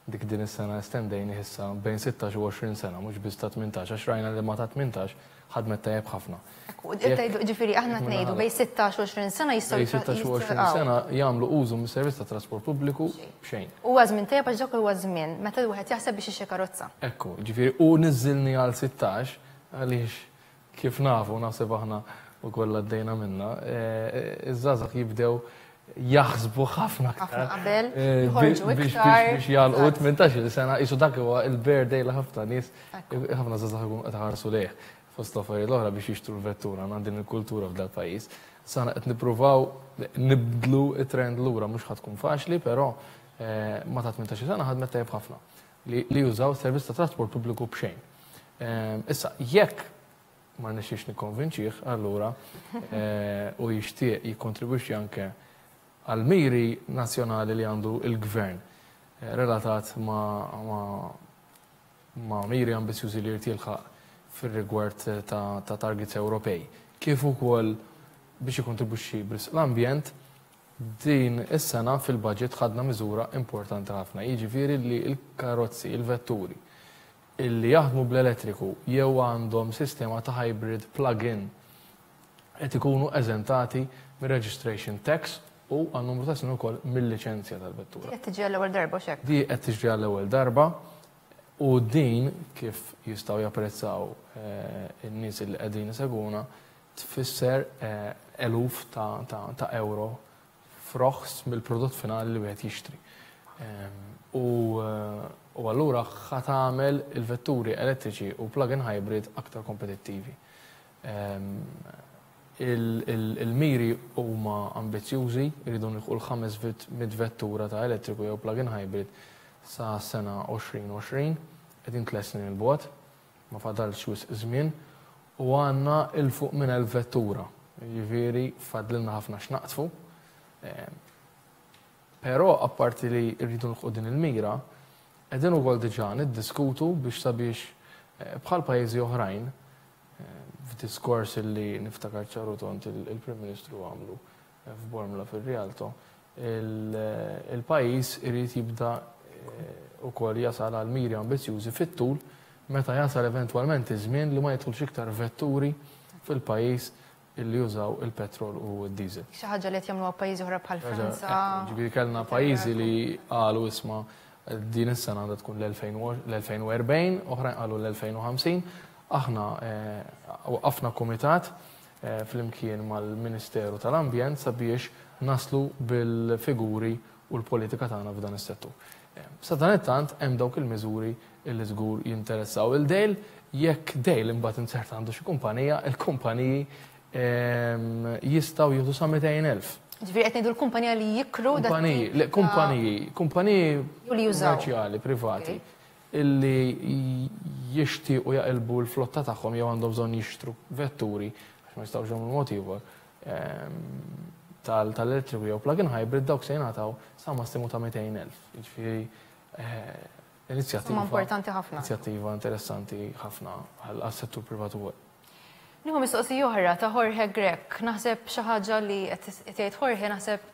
Dik din is-sena estendejna issa bejn sittax u għoxrin sena, mhux biss ta' tmintax, għax rajna li ma ta' tmintax ħadmet tajjeb ħafna. Ġifieri aħna ngħidu bejn sittax u għoxrin sena jistgħu Bejn sittax u għoxrin sena jagħmlu użu mis-servizz ta' trasport pubbliku b'xejn. Huwa żmien tajjeb għax dak huwa żmien meta wieħed jaħseb biex jixtri karozza. Ekku, ġifieri u niżilni għal sittax għaliex kif nafu, naħseb aħna ukoll għaddejna minna, iż-żgħażagħ jibdew jaħsbu ħafna aktar. Qabel, joħorġu iktar. Biex jagħlqu tmintax-il sena, qisu dak huwa il-birthday li ħafna nies, ħafna żgħażagħ ikunu qed iħarsu lejh. Fost l-affarijiet l-oħra biex jixtru l-vettura, għandna din il-kultura f'dal pajjiż. Sana qed nippruvaw nibdlu it-trend lura, mhux ħa tkun faċli, però ma ta' tmintax-il sena ħadmet tajjeb ħafna li jużaw servizz ta' trasport pubbliku b'xejn. Issa, jekk ma rnexxiex nikkonvinċih, allura u jixtieq jikkontribwixxi anke għal miri nazzjonali li għandu il-gvern relatat ma' ma' miri ambizjużi li jrid jilħaq fir-rigward ta', ta targets Ewropej, kif ukoll biex jikkontribwixxi b'risq l-ambjent, din is-sena fil-budget ħadna miżura importanti ħafna, jiġifieri li l-karozzi, il-vetturi illi jaħdmu bl-elettriku jew għandhom sistema ta' hybrid plug-in qed ikunu eżentati mir-registration tax. u għal numru ta' snin ukoll mill-liċenzja tal-vettura. Qed tiġi għall-ewwel darba xek. Di qed tiġri għall-ewwel darba u din, kif jistgħu japprezzaw eh, in-nies li qegħdin isegwuna, tfisser eh, eluf ta', ta, ta' euro f'roħs mill-prodott finali li wieħed jixtri. Ehm, U, eh, u allura ħa tagħmel il-vetturi elettriċi u plug-in hybrid aktar kompetittivi. Ehm, il- il- Il-miri huma ambizzjużi, jridu nilħqu l-ħames mitt vettura ta' elettriku jew plug-in hybrid sa sena elfejn u għoxrin, qegħdin tliet snin 'il bogħod, ma fadalx wisq żmien, u għandna 'il fuq minn elf vettura. Jiġifieri fadlilna ħafna x'naqtfu. Ehm, Però apparti li rridu nilħqu din il-mira, qegħdin ukoll diġà niddiskutu biex sabiex eh, bħal pajjiżi oħrajn, eh, f'diskors li niftakar ċar u tond il-Prim Ministru għamlu eh, f'Bormla fil-Rialto, il-pajjiż irid jibda ukoll jasal għal miri ambizjużi fit-tul meta jasal eventwalment iż-żmien li ma jidħulx iktar vetturi fil-pajjiż illi jużaw il-petrol u d-diesel. Xi ħaġa li qed jagħmluha pajjiżi oħra bħal Franza. Ġifieri kellna pajjiżi li qalu, "Isma', din is-sena għandha tkun l-elfejn u erbgħin," oħrajn qalu l-elfejn u ħamsin. Aħna eh, waqqafna komitat eh, flimkien mal-Ministeru tal-Ambjent sabiex naslu bil-figuri u l-politika tagħna f'dan is-settur. Eh, Sa dan it-tant hemm dawk il-miżuri illi żgur jinteressaw lil Dale. Jekk Dale imbagħad inzerta għandu xi kumpanija, il-kumpaniji ehm, jistgħu jieħdu sa mitejn elf. Ġifieri qed ngħidu l-kumpanija li jikru dak Kumpaniji, tip le, ta' kumpaniji, kumpaniji Jew li jużaw. kummerċjali, privati, illi jixtiequ jaqilbu l-flotta tagħhom jew għandhom bżonn jixtru vetturi, għax ma jistgħux jagħmlu mod ieħor, ehm, tal- tal-elettriku jew plug-in hybrid, dawk se jingħataw sa massimu ta' mitejn elf. Jiġifieri eh, inizjattiva Huma importanti ħafna. Inizjattiva interessanti ħafna għal-settur privat ukoll. Nieħu mistoqsija oħra ta' Jorge Grech. Naħseb xi ħaġa li qed jgħid Jorge naħseb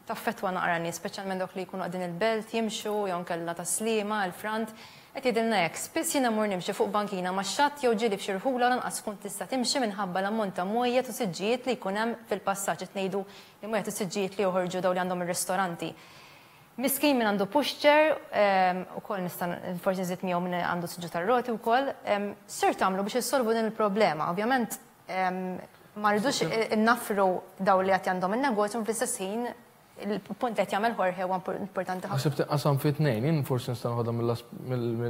taffetwa naqra nies, speċjalment dawk li jkunu qegħdin il-Belt jimxu jew nkella ta' Sliema, il-Front. Qed jgħidilna hekk: "Spiss jiena mur nimxi fuq bankina max-xatt jew ġieli f'xi rħula lanqas tkun tista' timxi minħabba l-ammont ta' mwejjed u siġġijiet li jkun hemm fil-passaġġ." Qed ngħidu li mwejjed u siġġijiet li joħorġu daw li għandhom ir-ristoranti. "Miskin min għandu pushchair, ukoll nista' forsi nżid miegħu min għandu siġġu tar-roti wkoll. X'ser tagħmlu biex issolvu din il-problema?" Ovvjament ma rridux innafru daw li qed għandhom il-negozju, fl-istess ħin il-punt li qed jagħmel Jorge huwa importanti ħafna. Naħseb tinqasam fi tnejn, jien forsi nista' noħodha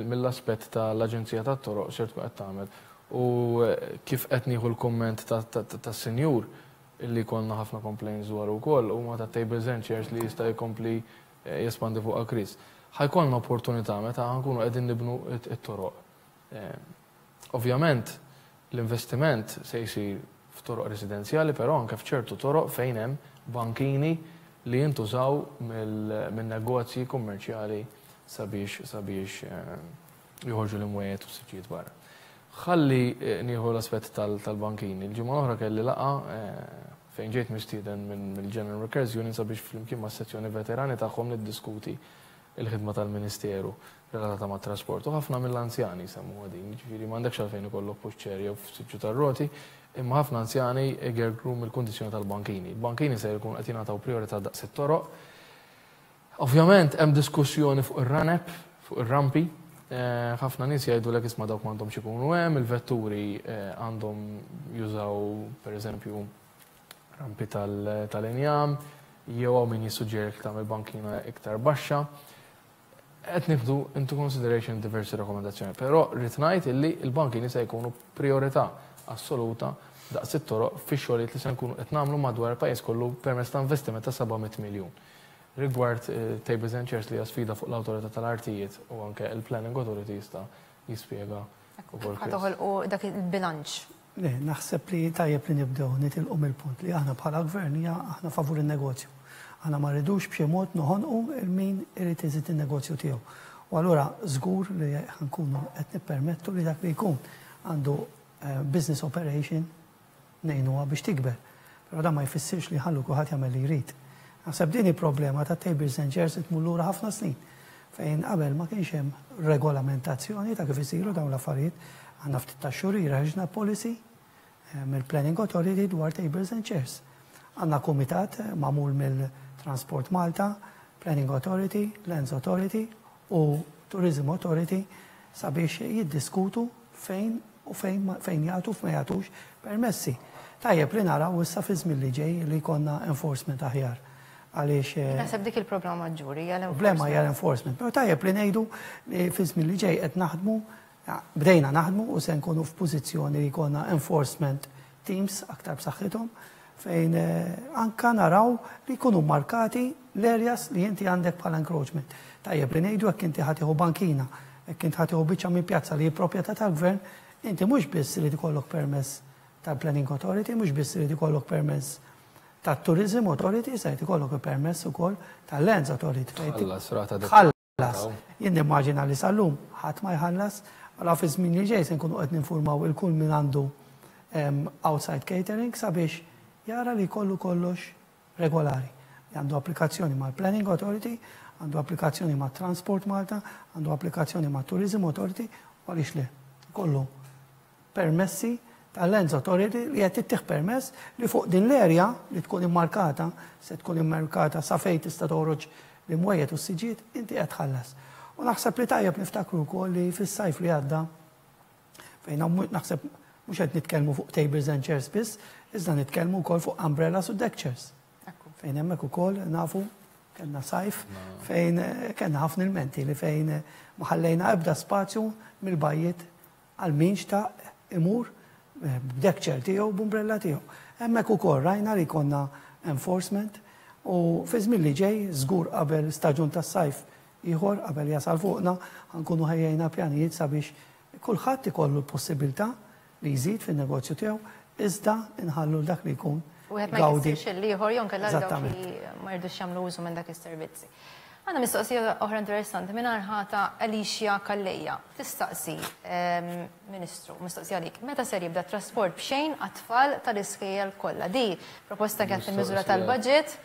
mill-aspett tal-Aġenzija tat-Toroq x'ser tkun qed tagħmel. U eh, kif qed nieħu l-kumment tas-senjur illi konna ħafna complaints dwar ukoll huma ta' tables and chairs li jista' jkompli eh, jespandi fuq Chris. Ħa jkollna opportunità meta ħa nkunu qegħdin nibnu it-toroq. Eh, ovvjament l-investiment se jsir f'toroq residenzjali, però anke f'ċertu toroq fejn hemm bankini li jintużaw minn negozji kummerċjali sabiex sabiex eh, joħorġu l-imwejjed u siġġijiet barra. Ħalli eh, nieħu l-aspett tal-bankini. Il-ġimgħa l-oħra kelli laqgħa eh, fejn ġejt mistieden mill-General Workers Union sabiex flimkien ma' sezzjoni veterani tagħhom niddiskuti il-ħidma tal-Ministeru relatata ma' trasport. U ħafna mill-anzjani semmu din, ġifieri m'għandekx għalfejn ikollok pushchair jew siġġu tar-roti, imma ħafna anzjani igergru mill-kundizzjoni tal-bankini. Il-bankini se jkun qed jingħataw priorità daqs it-toroq. Ovvjament hemm diskussjoni fuq ir-ramp, fuq ir-rampi. Eh, ħafna nies jgħidu lek, "Isma', dawk m'għandhomx ikunu hemm, il-vetturi eh, għandhom jużaw, pereżempju, rampi tal-injam," jew hawn min jissuġġeri tagħmel bankina iktar baxxa. Qed nieħdu into consideration diversi rakkomandazzjoni, però rrid ngħid illi l-bankini se jkunu priorità assoluta daqs it-toroq fix-xogħlijiet li se nkunu qed nagħmlu madwar il-pajjiż kollu permezz ta' investiment ta' seba' mitt miljun. Rigward eh, tables and chairs, li hija sfida fuq l-Awtorità tal-Artijiet u anke il-Planning Authority, jista' jispjega ukoll Ħa toħolqu dak il-bilanċ. Le, naħseb li tajjeb li nibdew nitilqu mill-punt li aħna bħala gvern hija aħna favur il-negozju. Aħna ma rridux b'xi mod noħonqu lil min irid iżid il-negozju tiegħu. U allura żgur li ħa nkunu qed nippermettu li dak li jkun għandu eh, business operation ngħinuha biex tikber. Però dan ma jfissirx li ħallu kulħadd jagħmel li jrid. Naħseb din il-problema ta' tables and chairs tmur lura ħafna snin, fejn qabel ma kienx hemm regolamentazzjoni ta' kif isiru dawn l-affarijiet. Għandna ftit ta' xhur ħriġna policy eh, mill-Planning Authority dwar tables and chairs. Għandna kumitat magħmul mill-Transport Malta, Planning Authority, Lands Authority u Tourism Authority sabiex jiddiskutu fejn u fejn fejn jagħtu, fejn ma jagħtux permessi. Tajjeb li naraw issa fi żmien li ġej li jkollna enforcement aħjar. Għaliex eh, Naħseb dik il-problema maġġuri hija problema hija l-enforcement. Però tajjeb li ngħidu li fi żmien li ġej qed naħdmu, bdejna naħdmu u se nkunu f'pożizzjoni li jkollna enforcement teams aktar b'saħħithom, fejn eh, anka naraw li jkunu markati l-areas li inti għandek bħala encroachment. Tajjeb li ngħidu, jekk inti ħa tieħu bankina, jekk inti ħa tieħu biċċa minn pjazza li hi proprjetà tal-gvern, inti mhux biss li jkollok permess tal-Planning Authority, mhux biss li jkollok permess tat-Tourism Authority, se jkollok permess ukoll tal-Lands Authority. Fejn Tħallas rata. Tħallas. Jien nimmaġina li sal-lum ħadd ma jħallas, għala fi żmien li ġej se nkunu qed ninformaw il kull min għandu em, outside catering sabiex jara li kollu kollox regolari. Għandu applikazzjoni mal-Planning Authority, għandu applikazzjoni ma' Transport Malta, għandu applikazzjoni ma' Tourism Authority, u għaliex le, kollu permessi tal-Lands Authority li qed ittih permess li fuq din l-area li tkun immarkata, se tkun immarkata sa fejn tista' toħroġ l-imwejjed u s-siġiet, inti qed tħallas. U naħseb li tajjeb niftakru wkoll li fis-sajf li għadda, fejn hawn naħseb mhux qed nitkellmu fuq tables and chairs biss, iżda nitkellmu wkoll fuq umbrellas u deck chairs. Fejn hemmhekk ukoll nafu kellna sajf fejn eh, kellna ħafna ilmenti li fejn eh, ma ħallejna ebda spazju mill-bajjiet għal min xtaq imur eh, b'deck chair tiegħu, b'umbrella tiegħu. Hemmhekk ukoll rajna li konna enforcement u fi żmien li ġej, żgur qabel staġun tas-sajf ieħor, qabel jasal fuqna, ħa nkunu ħejjejna pjanijiet sabiex kulħadd ikollu l-possibilità li jżid fin-negozju tiegħu, iżda nħallu dak li jkun Wieħed ma gawdi. jkissirx l-ieħor jew inkella dawk Eżattament. li ma jridux jagħmlu użu minn dak is-servizzi. Għandna mistoqsija oħra interessanti minn ħata Alicia Calleja. Tistaqsi, ehm, Ministru, mistoqsija għalik, meta ser jibda trasport b'xejn għat-tfal tal-iskejjel kollha? Di proposta kienet fil-miżura Mistoqsija. tal-budget.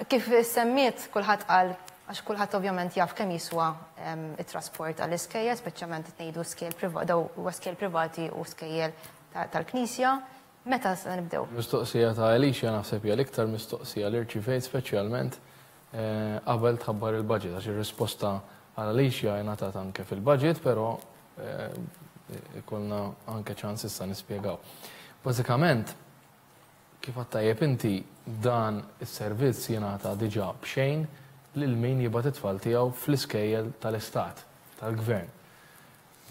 Kif semmiet, kulħadd qal, għax kulħadd ovvjament jaf kemm jiswa ehm, it-trasport għall-iskejjel, speċjalment qed ngħidu skejjel priva- daw huwa skejjel privati u skejjel ta- tal-Knisja. Meta se nibdew? Mistoqsija ta' Alicia naħseb hija l-iktar mistoqsija li rċivejt, speċjalment eh, qabel tħabbar il-budget, għax ir-risposta għal Alicia ngħatat anke fil-budget, però eh, ikollna anke ċans issa nispjegaw. Bażikament, kif għedt tajjeb inti, dan is-servizz jingħata diġà b'xejn lil min jibgħat it-tfal tiegħu fl-iskejjel tal-istat, tal-gvern.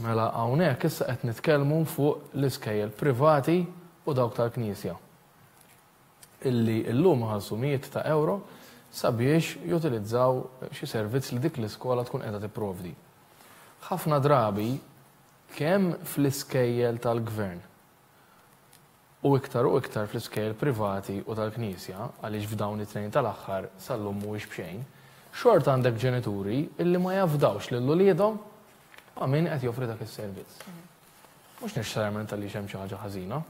Mela hawnhekk issa qed nitkellmu fuq l-iskejjel privati u dawk tal-Knisja, illi llum ħallsu mijiet ta' euro sabiex jutilizzaw xi servizz li dik l-iskola tkun qiegħda tipprovdi. Ħafna drabi, kemm fl-iskejjel tal-gvern u iktar u iktar fl-iskejjel privati u tal-Knisja, għaliex f'dawn it-tnejn tal-aħħar sal-lum mhuwiex b'xejn, xorta għandek ġenituri illi ma jafdawx lil uliedhom ma' min qed joffri dak is-servizz. Mhux neċessarjament għaliex hemm xi ħaġa ħażina,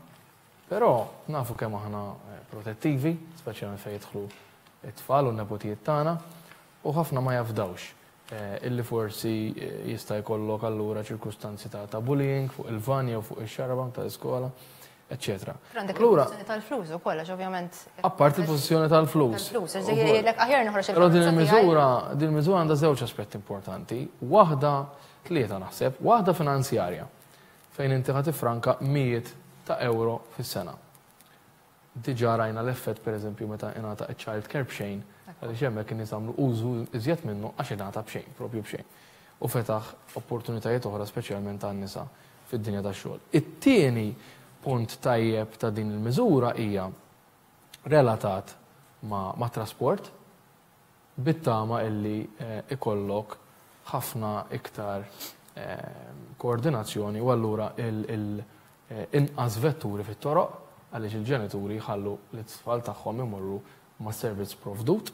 però nafu kemm aħna eh, protettivi, speċjalment fejn jidħlu it-tfal u n-nepotijiet tagħna, u ħafna ma jafdawx eh, illi forsi eh, jista' jkollok allura ċirkustanzi ta' ta' bullying fuq il-van jew fuq ix-xarabank tal-iskola, eċċetera. Però għandek Allura, il-pożizzjoni tal-flus ukoll, għax ovvjament apparti il-pożizzjoni tal-flus. Tal-flus, għax jgħidlek aħjar noħroġ Però din il-karozza tiegħi. il-miżura, din il-miżura għandha żewġ aspetti importanti. Waħda, tlieta naħseb, waħda finanzjarja, fejn inti ħa tifranka mijiet ta' euro fis-sena. Diġà rajna l-effett, pereżempju, meta ingħata child care b'xejn, għaliex hemmhekk in-nies għamlu użu iżjed minnu għax ingħata b'xejn, propju b'xejn. U fetaħ opportunitajiet oħra, speċjalment għan-nisa fid-dinja tax-xogħol. It-tieni punt tajjeb ta' din il-miżura hija relatat ma', ma' trasport, bit-tama illi eh, ikollok ħafna iktar eh, koordinazzjoni u allura il, il, eh, inqas vetturi fit-toroq, għaliex il-ġenituri jħallu l-tfal tagħhom imorru ma' servizz provdut.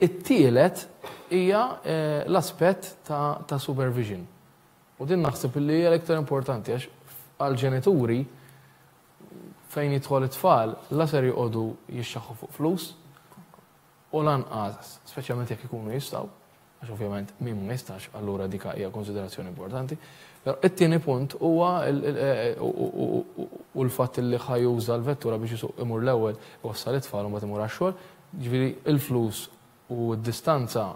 It-tielet hija eh, l-aspett ta', ta' supervision. U din naħseb li hija l-iktar importanti, għax għal-ġenituri fejn jidħol it-tfal la ser joqogħdu jixxaħħu fuq flus u lanqas, speċjalment jekk ikunu jistgħu, għax ovvjament min ma jistax, allura dika hija konsiderazzjoni importanti. Però it-tieni punt huwa il- il- eh, u- u- u- u l-fatt li ħa juża l-vettura biex jisuq imur l-ewwel iwassal it-tfal u mbagħad imur għax-xogħol. Ġifieri il-flus u d-distanza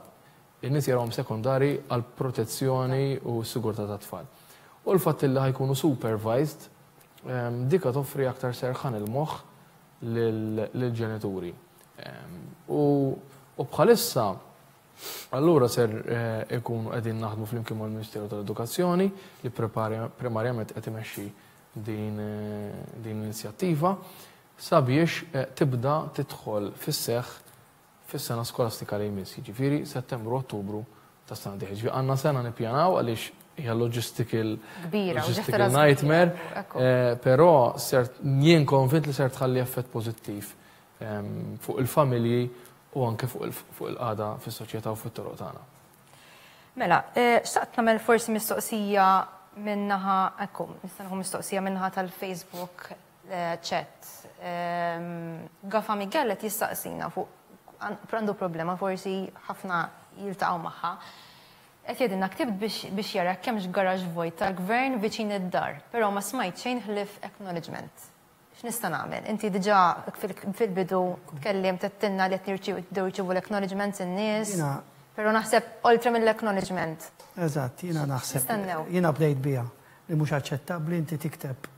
in-nies jarawhom sekondari għal protezzjoni u s-sigurtà tat-tfal. U l-fatt li ħa jkunu supervised, ehm, dika toffri aktar serħan il-moħħ lill-ġenituri. Ehm, u bħalissa allura ser eh, ikunu qegħdin naħdmu flimkien mal-Ministeru tal-Edukazzjoni li primarjament qed imexxi din eh, din l-inizjattiva sabiex eh, tibda tidħol fis-seħħ fis-sena skolastika li jmiss, jiġifieri Settembru, Ottubru ta' sena dieħla. Ġifieri għandna sena nippjanaw għaliex hija logistical kbira, logistical nightmare, eh, però ser jien konvint li ser tħalli effett pożittiv ehm, fuq il-familji u anke fuq il-qagħda fis-soċjetà u fit-toroq tagħna. Mela, eh, xtaqt nagħmel forsi mistoqsija min-naħa, ekku, nista' nieħu mistoqsija min-naħa tal-Facebook eh, chat. Ehm, Gafa Miguel qed jistaqsina fuq għandu problema, forsi ħafna jiltaqgħu magħha. Qed jgħidilna ktibt biex jara hemmx garage vojt tal-gvern viċin id-dar, però ma smajt xejn ħlief acknowledgement. X'nista' nagħmel? Inti diġà fil-bidu tkellim tettinna li qed nirċievu l-acknowledgements in-nies. Però naħseb oltre mill-acknowledgement. Eżatt, jiena naħseb. Jiena bdejt biha li mhux aċċettabbli inti tikteb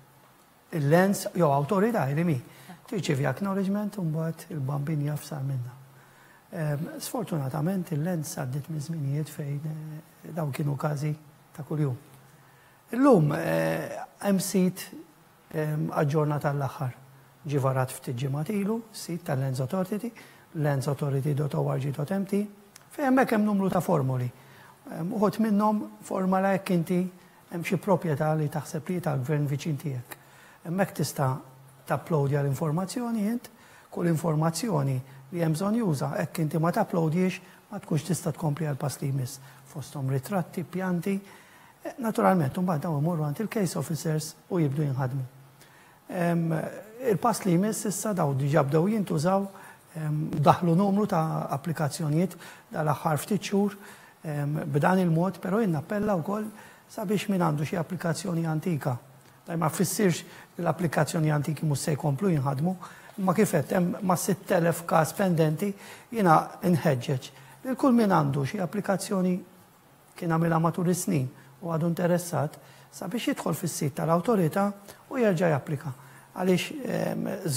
il-Lands jew awtorità li mi. Tirċievi acknowledgement u mbagħad il-bambin jaf sar minna. Sfortunatament il-Lands għaddit minn żminijiet fejn eh, dawn kienu każi ta' kuljum. Illum eh, hemm sit aġġornat għall-aħħar. Ġie varat ftit ġimgħat ilu, sit tal-Lands Authority, landsauthority dot org dot M T, fejn hemmhekk hemm numru ta' formuli. Uħud minnhom formola jekk inti hemm xi proprjetà li taħseb li tal-gvern viċin tiegħek. Hemmhekk tista' tapplodja l-informazzjoni int, kull informazzjoni li hemm bżonn juża, hekk inti ma tapplodjiex ma tkunx tista' tkompli għal pass li jmiss. Fosthom ritratti, pjanti. Eh, naturalment, mbagħad dawn imorru għand il-case officers u jibdu jinħadmu. Il-pass li jmiss issa, daw diġà bdew jintużaw, daħlu numru ta' applikazzjonijiet dal-aħħar ftit xhur b'dan il-mod, però jien nappella wkoll sabiex min għandu xi applikazzjoni antika. Dan ma jfissirx li l-applikazzjoni antiki mhux se jkomplu jinħadmu, imma kif qed hemm ma' sitt elef każ pendenti, jiena nħeġġeġ lil kull min għandu xi applikazzjoni kien għamilha matul is-snin u għadu interessat sabiex jidħol fis-sit tal-awtorità u jerġa' japplika. Għaliex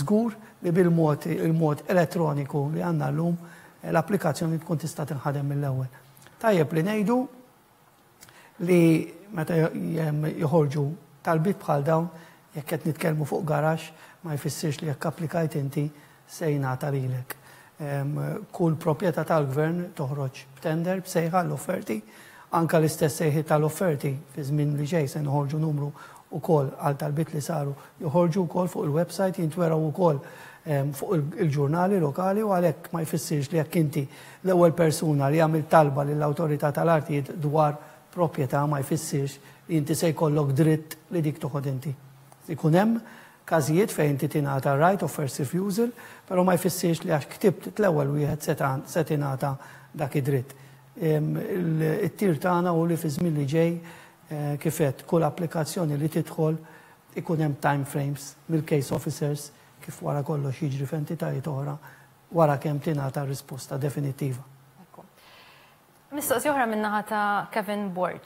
żgur li bil-mod il-mod elettroniku li għandna llum l-applikazzjoni tkun tista' tinħadem mill-ewwel. Tajjeb li ngħidu li meta joħorġu talbiet bħal dawn, jekk qed nitkellmu fuq garaxx, ma jfissirx li jekk applikajt inti se jingħata lilek. Kull proprjetà tal-gvern toħroġ b'tender, b'sejħa l-offerti, anka l-istess sejħi tal-offerti fi żmien li ġej se noħorġu numru ukoll għal talbiet li saru, joħorġu wkoll fuq il-website, jintweraw ukoll fuq il-ġurnali lokali, u għalhekk ma jfissirx li jekk inti l-ewwel persuna li għamil talba lill-awtorità tal-artijiet dwar proprjetà ma jfissirx li inti se jkollok dritt li dik toħod inti. Ikun hemm każijiet fejn inti tingħata right of first refusal, però ma jfissirx li għax ktibt l-ewwel wieħed se tingħata dak id-dritt. It-tir tagħna u li fi żmien li ġej, eh, kif għedt, kull applikazzjoni li tidħol ikun hemm time frames mill-case officers, kif wara kollox jiġri f'entitajiet oħra, wara kemm tingħata risposta definittiva. Mistoqsija oħra min-naħa ta' Kevin Borg.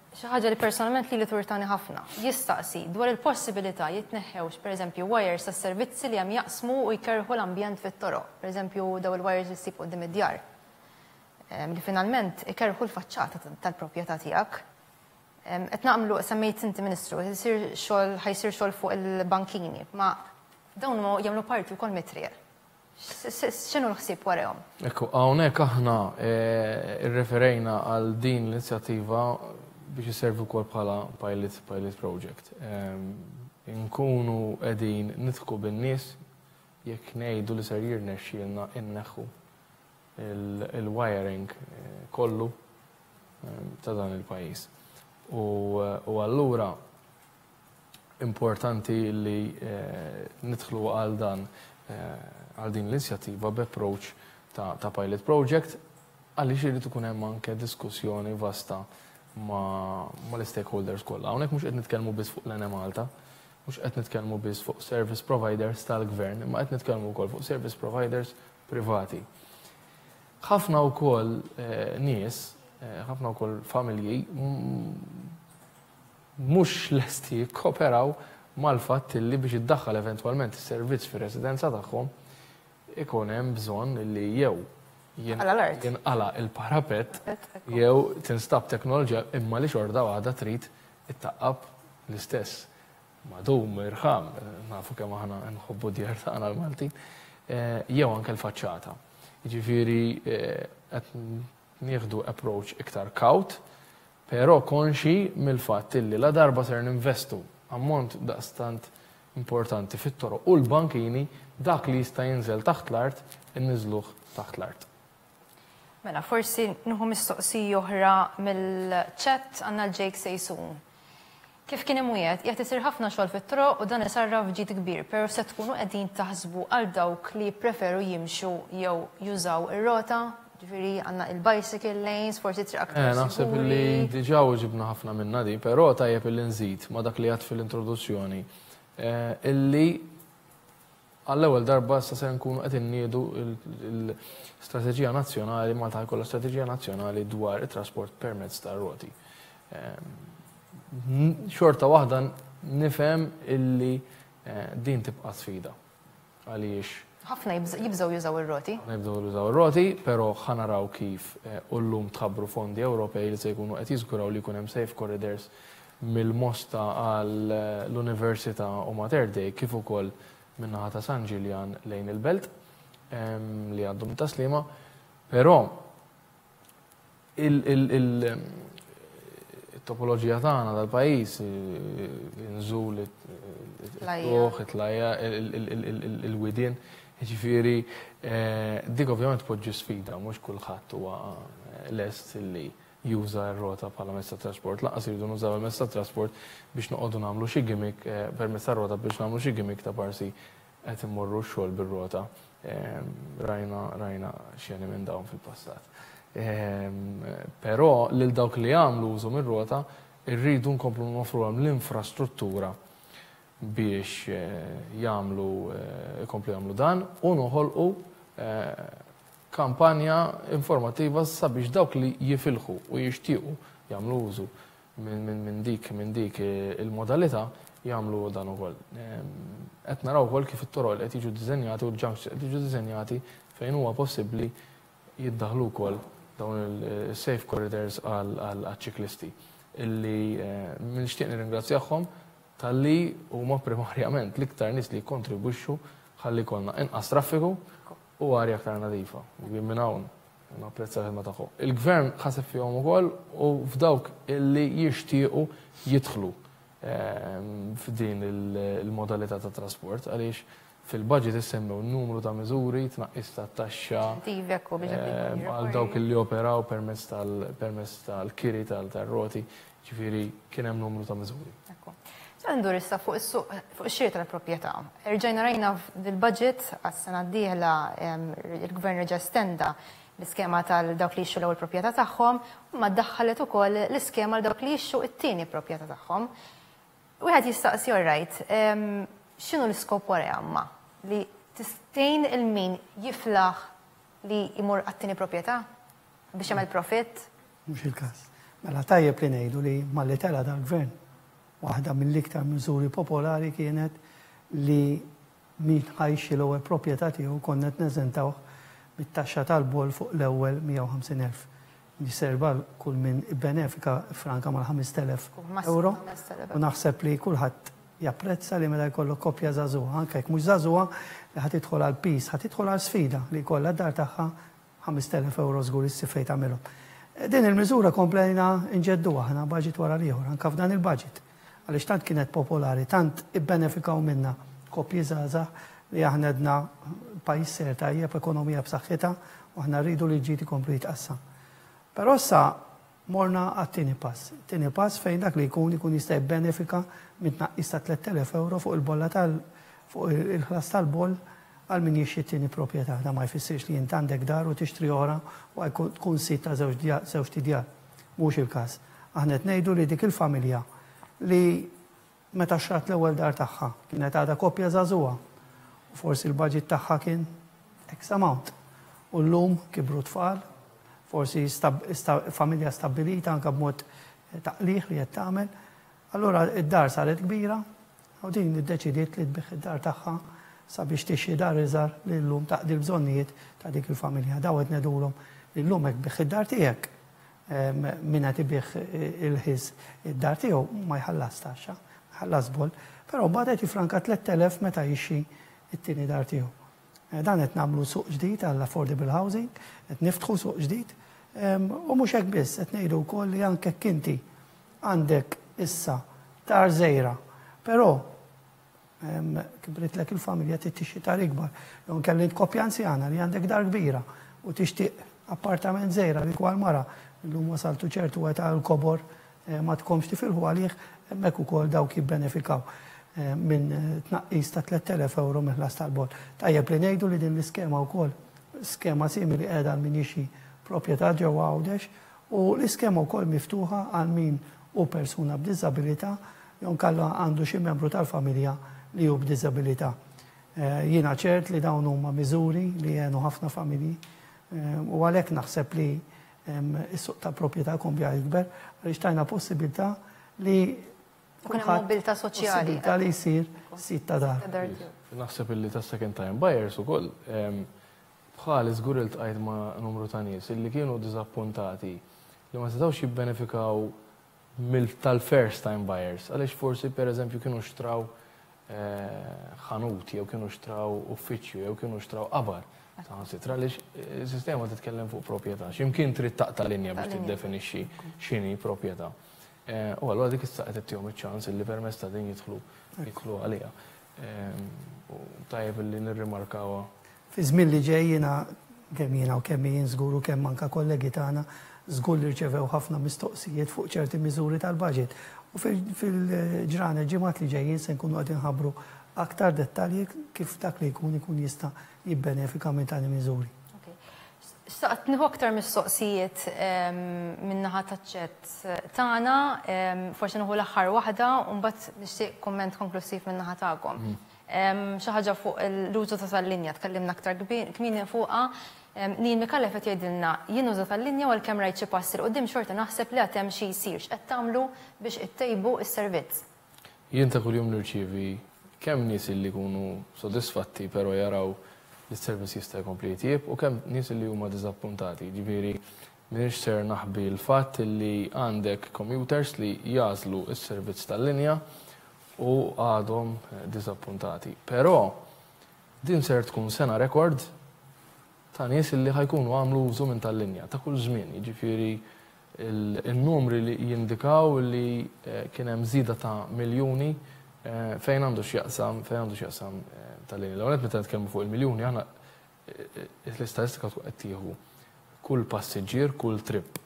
Xi ħaġa li personalment li li turtani ħafna. Jistaqsi dwar il-possibilità jitneħħewx, pereżempju, wires tas servizzi li hemm jaqsmu u jkerħu l-ambjent fit-toroq. Pereżempju, daw il-wires li ssib quddiem id-djar. Li finalment ikerħu l-faċċata tal-proprjetà tiegħek. Qed nagħmlu, semmejt inti, Ministru, jsir xogħol ħa jsir xogħol fuq il-bankini, ma dawn jagħmlu parti wkoll mit-triq. X'inhu l-ħsieb warahom? Ekku, hawnhekk aħna eh, irreferejna għal din l-inizjattiva biex iservi wkoll bħala pilot pilot project. Inkunu qegħdin nidħku bin-nies jekk ngħidu li ser jirnexxielna inneħħu il-wiring eh, kollu ta' dan il-pajjiż. U allura importanti li eh, nidħlu għal dan għal din l-inizjattiva b'approach ta', ta pilot project, għaliex irid ikun hemm anke diskussjoni vasta ma, ma l-stakeholders kollha. Hawnhekk mhux qed nitkellmu biss fuq l-Enemalta, mhux qed nitkellmu biss fuq service providers tal-gvern, imma qed nitkellmu wkoll fuq service providers privati. Ħafna wkoll eh, nies, eh, ħafna wkoll familji mhux lesti jikkoperaw mal-fatt li biex iddaħħal eventwalment is-servizz fir-residenza tagħhom ikun hemm bżonn li jew jinqala il-parapet jew tinstab teknoloġija imma li xorta waħda trid ittaqqab l-istess. Madum, irħam, nafu kemm aħna nħobbu djar tagħna l-Maltin, eh, jew anke l-faċċata. Jiġifieri eh, qed nieħdu approach iktar kawt, però konxi mill-fatt illi la darba ser ninvestu ammont daqstant importanti fit-toroq u l-bankini, dak li jista' jinżel taħt l-art, inniżluh taħt l-art. Mela, forsi nieħu mistoqsija oħra mill-chat, għandna l-Jake Sejsun. Kif kien imwiegħed, qiegħed isir ħafna xogħol fit-toroq u dan isarraf ġid kbir, però se tkunu qegħdin taħsbu għal dawk li preferu jimxu jew jużaw ir-rota, ġifieri għandna il-bicycle lanes, forsi triq aktar Eh, naħseb li diġà ġibna ħafna minna di, però tajjeb illi nżid ma dak li għad fil-introduzzjoni eh, illi għall-ewwel darba issa se nkunu qed inniedu l-istrateġija nazzjonali, Malta jkollha strateġija nazzjonali dwar it-trasport permezz tar-roti. Ehm, xorta waħda nifhem illi eh, din tibqa' sfida. Għaliex ħafna jibżgħu jużaw ir-roti. Ħafna jibżgħu jużaw ir-roti, però ħa naraw kif eh, u llum tħabbru fondi Ewropej li se jkunu qed jiżguraw li jkun hemm safe corridors mill-Mosta għal l-Università u Mater Dei, kif ukoll min-naħa ta' San Ġiljan lejn il-Belt li għaddu minn Tas-Sliema, però il-topoloġija tagħna tal-pajjiż, inżul, it-tuħ, it-tlajja, il-widien, ġifieri dik ovvjament poġġi sfida, mhux kulħadd huwa lest li juża r-rota bħala mezz ta' trasport, lanqas iridu nużaw il-mezz ta' trasport biex noqogħdu nagħmlu xi gimmick permezz tar-rota, biex nagħmlu xi gimmick ta' parsi qed immorru x-xogħol bir-rota. Rajna rajna xeni minn dawn fil-passat. Però lil dawk li jagħmlu użu mir-rota irridu nkomplu nofruhom l-infrastruttura biex jagħmlu ikomplu jagħmlu dan u noħolqu kampanja informattiva sabiex dawk li jifilħu u jixtiequ jagħmlu użu minn dik minn dik il-modalità jagħmlu dan ukoll. Qed naraw ukoll kif it-toroq qed jiġu ddiżenjati u l-junctions qed jiġu ddiżenjati fejn huwa possibbli jiddaħlu wkoll dawn il-safe corridors għal-ċiklisti illi nixtieq nirringrazzjahom talli huma primarjament l-iktar nies li jikkontribwixxu ħalli jkollna inqas traffiku u arja aktar nadifa. Minn hawn napprezza l-ħidma tagħhom. Il-gvern ħaseb fihom ukoll u f'dawk illi jixtiequ jidħlu f'din il-modalità ta' trasport, għaliex fil-budget issemmew numru ta' miżuri, tnaqqis ta' taxxa għal dawk li operaw permezz tal-kiri tal-roti, ġifieri kien hemm numru ta' miżuri. Ndur issa fuq is-suq, fuq ix-xiri tal-proprjetà. Erġajna rajna fil-budget għas-sena d-dieħla il-gvern reġa' stenda l-iskema tal-dawk li jixtru l-ewwel proprjetà tagħhom, ma daħħalet ukoll l-iskema għal dawk li jixtru t-tieni proprjetà tagħhom. Wieħed jistaqsi, alright, x'inhu l-iskop wara jamma? Li tistejn il-min jiflaħ li jmur għat-tieni proprjetà biex jagħmel profitt? Mhux il-każ. Mela tajjeb li ngħidu li malli tela dal-gvern, waħda mill-iktar miżuri popolari kienet li min ħa jixtri l-ewwel proprjetà tiegħu konna qed neżentawh bit-taxxa tal-boll fuq l-ewwel mija u ħamsin elf. Jiserba kull min benefika franka mal-ħamest elef euro. U naħseb li kulħadd japprezza li meta jkollok koppja żagħżugħa, anke jekk mhux żagħżugħa, li ħa tidħol għal pis, ħa tidħol għal sfida li jkollha d-dar tagħha ħamest elef euro żgur issib fejn tagħmilhom. Din il-miżura komplejna nġeddu aħna budget wara l-ieħor, anke f'dan il-budget. Għaliex tant kienet popolari, tant ibbenefikaw minna koppji żgħażagħ li aħna għedna pajjiż ser tajjeb, ekonomija b'saħħitha, u aħna rridu li l-ġid ikomplu jitqassam. Però issa morna għat-tieni pass. Tieni pass fejn dak li jkun ikun jista' jibbenefika minn tnaqqis ta' tlett elef euro fuq il-bolla tal fuq il-ħlas tal-boll għal min jixtri t-tieni proprjetà. Da ma jfissirx li int għandek dar u tixtri oħra u għajkun tkun sit ta' żewġ tidjar. Mhux il-każ. Aħna qed ngħidu li dik il-familja li meta xtrat l-ewwel dar tagħha kienet għadha koppja żagħżugħa u forsi l-budget tagħha kien X amount. U llum kibru tfal, forsi familja stabbilita anke b'mod ta' qligħ li qed tagħmel. Allura id-dar saret kbira u din iddeċidiet li tbigħ id-dar tagħha sabiex tixtri dar iżgħar li llum taqdi l-bżonnijiet ta' dik il-familja. Daw qed ngħidulhom li llum hekk tbigħ id-dar tiegħek, min qed ibigħ il-ħis id-dar tiegħu ma jħallas taxxa, ħallas boll, però mbagħad qed jifranka tlett elef meta jixtri it-tieni dar tiegħu. Dan qed nagħmlu suq ġdid għall-affordable housing, qed niftħu suq ġdid, u mhux hekk biss, qed ngħidu wkoll li anke inti għandek issa dar żgħira, però kibritlek il-familja trid tixtri dar ikbar, jew inkella int koppja anzjana li għandek dar kbira u tixtieq appartament żgħira li kwal mara llum wasaltu ċertu età l-kobor ma tkomx tifilħu għalih, hemmhekk ukoll dawk jibbenefikaw minn tnaqqis ta' tlett elef euro mill-ħlas tal-boll. Tajjeb li ngħidu li din l-iskema wkoll skema simili qiegħda għal min jixtri proprjetà ġewwa Għawdex u l-iskema wkoll miftuħa għal min hu persuna b'diżabilità jew inkella għandu xi membru tal-familja li hu b'diżabilità. Jiena ċert li dawn huma miżuri li jgħinu ħafna familji u għalhekk naħseb li is-suq ta' proprjetà jkun bja jikber għaliex tajna possibilità li Ikun hemm mobilità soċjali. Possibilità li jsir sit ta' dar. Naħseb illi ta' second time buyers ukoll bħal żgur iltqajt ma' numru ta' nies illi kienu diżappuntati li ma setgħux jibbenefikaw mill tal-first time buyers għaliex forsi pereżempju kienu xtraw ħanut jew kienu xtraw uffiċċju jew kienu xtraw qabar. Saħansitra għaliex is-sistema titkellem fuq proprjetà. X'imkien trid taqta' linja biex tiddefinixxi x'inhi proprjetà. U allura dik issa qed ittihom iċ-ċans illi permezz ta' din jidħlu jidħlu għaliha. U tajjeb illi nirrimarkawha. Fi żmien li ġej jiena kemm jiena u kemm jien żgur u kemm anke kollegi tagħna żgur li rċevew ħafna mistoqsijiet fuq ċerti miżuri tal-budget. U fil-ġranet ġimgħat li ġejjin se nkunu qed inħabbru aktar dettalji kif dak li jkun ikun jista' jibbenefika minn tali miżuri. Xtaqt nieħu aktar mistoqsijiet min-naħa taċ-chat tagħna, forsi nieħu l-aħħar waħda u mbagħad nixtieq kumment konklusiv min-naħa tagħkom. Xi ħaġa fuq l-użu ta' tal-linja tkellimna aktar kmieni fuqha. Neil Micallef qed jgħidilna jien uża tal-linja u għalkemm rajt xi passi 'l quddiem xorta naħseb li għad hemm xi jsir. X'qed tagħmlu biex ittejbu s-servizz? Jien ta' kuljum nirċievi kemm nies li jkunu sodisfatti però jaraw li s-servizz jista' jkompli jitjieb u kemm nies li huma diżappuntati. Ġifieri m'iniex ser naħbi l-fatt li għandek commuters li jażlu s-servizz tal-linja u għadhom diżappuntati. Però din ser tkun sena rekord ta' nies li ħajkunu għamlu użu minn tal-linja ta' kull żmien. Jiġifieri il-numri li jindikaw li kien hemm żieda ta' miljuni fejn għandu x'jaqsam, fejn għandu x'jaqsam tal-linja. L-ewwel nett meta nitkellmu fuq il-miljuni aħna l-istatistika tkun qed tieħu kull passiġġier, kull trip.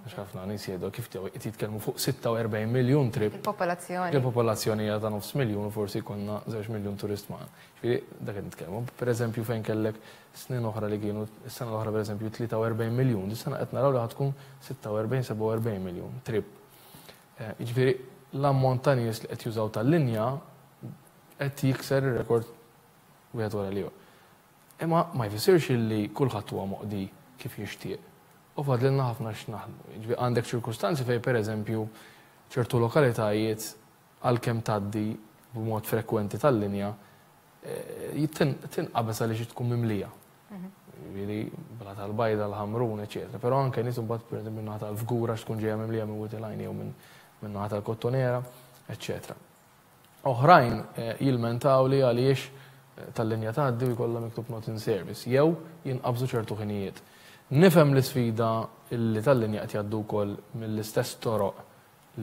Għax ħafna nies jgħidu kif qed jitkellmu fuq sitta u erbgħin miljun trip. Il-popolazzjoni. Il-popolazzjoni hija ta' nofs miljun u forsi jkollna żewġ miljun turist magħna. Ġifieri dak qed nitkellmu. Pereżempju fejn kellek snin oħra li kienu, is-sena l-oħra pereżempju tlieta u erbgħin miljun, dis-sena qed naraw li ħad tkun sitta u erbgħin, sebgħa u erbgħin miljun trip. Jiġifieri l-ammont ta' nies li qed jużaw tal-linja qed jikser ir-rekord wieħed wara l-ieħor. Imma ma jfissirx illi kulħadd huwa moqdi kif jixtieq. U fadlilna ħafna x'naħdmu. Jiġifieri għandek ċirkustanzi fejn pereżempju ċertu lokalitajiet għalkemm tgħaddi b'mod frekwenti tal-linja tinqabeż għaliex tkun mimlija. Jiġifieri bla tal-Bajda, l-Ħamrun, eċetera. Però anke nies imbagħad pereżempju min-naħa tal-Fgura x'tkun ġejja mimlija minn Wied il-Għajn jew minn naħa tal-Kottonera, eċetera. Oħrajn jilmentaw li għaliex tal-linja tgħaddi u jkollha miktub not in service jew jinqabżu ċertu ħinijiet. Nifhem l-isfida li tal-linja qed jgħaddu wkoll mill-istess toroq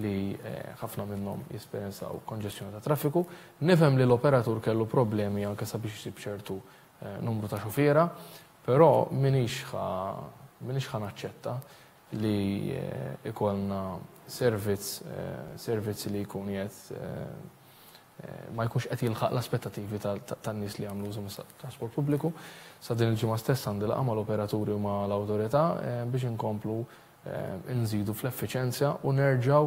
li ħafna minnhom jesperjenzaw konġestjoni ta' traffiku. Nifhem li l-operatur kellu problemi anke sabiex isib ċertu numru ta' xufiera, però m'iniex ħa naċċetta li ikollna servizz, servizz li jkun qed ma jkunx qed jilħaq l-aspettativi tan-nies li jagħmlu użu mit-trasport pubbliku. Sa din il-ġimgħa stess għandi laqgħa mal-operaturi u mal-awtorità biex inkomplu nżidu fl-effiċenzja u nerġgħu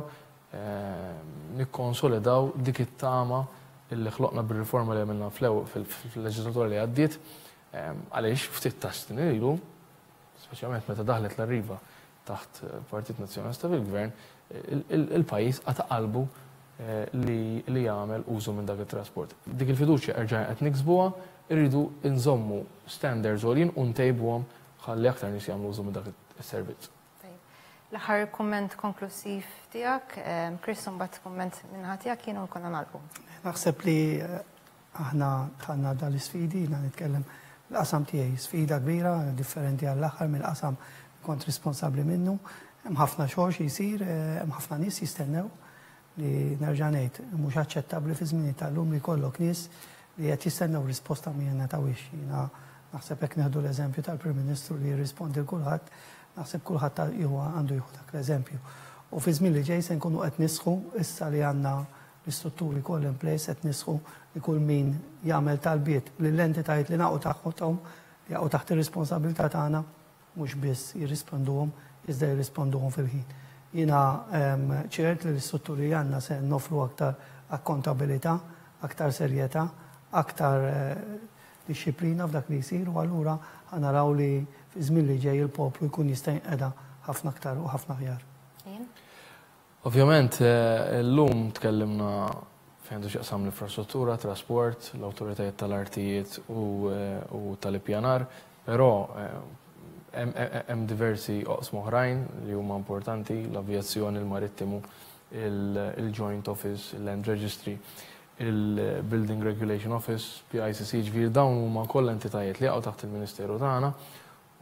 nikkonsolidaw dik it-tama illi ħloqna bir-riforma li għamilna fil-leġislatura li għaddiet, għaliex ftit ta' snin ilu, speċjalment meta daħlet l-Arriva taħt Partit Nazzjonalista fil-Gvern, il-pajjiż qata' qalbu li jagħmel użu minn dak it-trasport. Dik il-fiduċja erġa' qed niksbuha, irridu nżommu standards għoljin u ntejbuhom ħalli aktar nies jagħmlu użu minn dak is-servizz. L-aħħar kumment konklusiv tiegħek, Chris, mbagħad kumment min-naħa tiegħek jien u konna nagħlqu. Naħseb li aħna dħalna dal-isfidi, jiena nitkellem l-qasam tiegħi, sfida kbira, differenti għall-aħħar mill-qasam kont responsabbli minnu. Hemm ħafna xogħol xi jsir, hemm ħafna nies jistennew li nerġa' ngħid mhux aċċettabbli fi żmien tal-lum li jkollok nies li qed jistennew risposta ma jingħatawhiex. Jiena naħseb hekk nieħdu l-eżempju tal-Prim Ministru li jirrispondi l kulħadd, naħseb kulħadd għandu jieħu dak l-eżempju. U fi żmien li ġej se nkunu qed nisħu issa li għandna l-istrutturi kollha in place, qed nisħu li kull min jagħmel talbiet lill-entitajiet li naqgħu taħthom, li jaqgħu taħt ir-responsabilità tagħna, mhux biss jirrisponduhom, iżda jirrisponduhom fil-ħin. Jiena ċert li l-istrutturi għandna se nofru aktar akkontabilità, aktar serjetà, aktar disċiplina f'dak li jsir, u allura naraw li fi żmien li ġej il-poplu jkun jista' jinqeda ħafna aktar u ħafna aħjar. Ovvjament, illum tkellimna fejn għandu x'jaqsam l-infrastruttura, trasport, l-awtoritajiet tal-artijiet u tal-ippjanar, però hemm diversi oqsma oħrajn li huma importanti, l-avjazzjoni, il-marittimu, il-Joint Office, il-Land Registry, il-Building Regulation Office, P I C C, ġifieri dawn huma kollha entitajiet li jaqgħu taħt il-Ministeru tagħna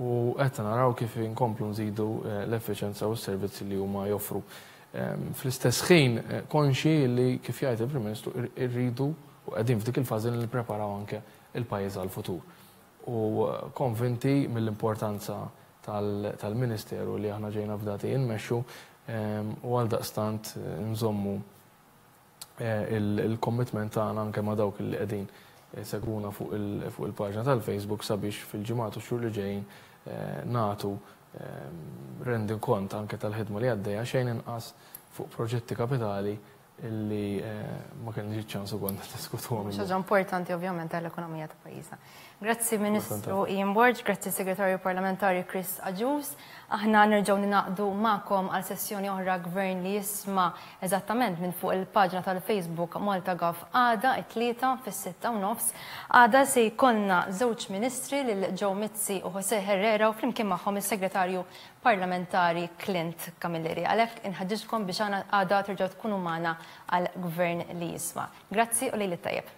u qed naraw kif inkomplu nżidu l-effiċenza u s-servizzi li huma joffru. Fl-istess ħin konxi li kif jgħid il-Prim Ministru irridu u qegħdin f'dik il-fażi li nippreparaw anke il-pajjiż għall-futur. U konvinti mill-importanza tal-Ministeru li aħna ġejna fdati nmexxu u għaldaqstant nżommu il-commitment tagħna anke ma' dawk li qegħdin segwuna fuq il-paġna tal-Facebook sabiex fil-ġimgħat u xhur li ġejjin nagħtu rendikont anke tal-ħidma li għaddejja xejn inqas fuq proġetti kapitali illi ma kellniex ċans ukoll niddiskutuhom. Xi ħaġa importanti ovvjament għall-ekonomija ta' pajjiżna. Grazzi Ministru Ian Borg, grazzi Segretarju Parlamentari Chris Agius. Aħna nerġgħu ninaqdu magħkom għal sessjoni oħra Gvern li jisma' eżattament minn fuq il-paġna tal-Facebook Malta Gov għada it-tlieta fis-sitta u nofs. Għada se jkollna żewġ ministri lil Joe Mizzi u Jose Herrera u flimkien magħhom is-Segretarju Parlamentari Clint Camilleri. Għalhekk inħeġġiġkom biex għada terġgħu tkunu magħna għal Gvern li jisma'. Grazzi u lejl it-tajjeb.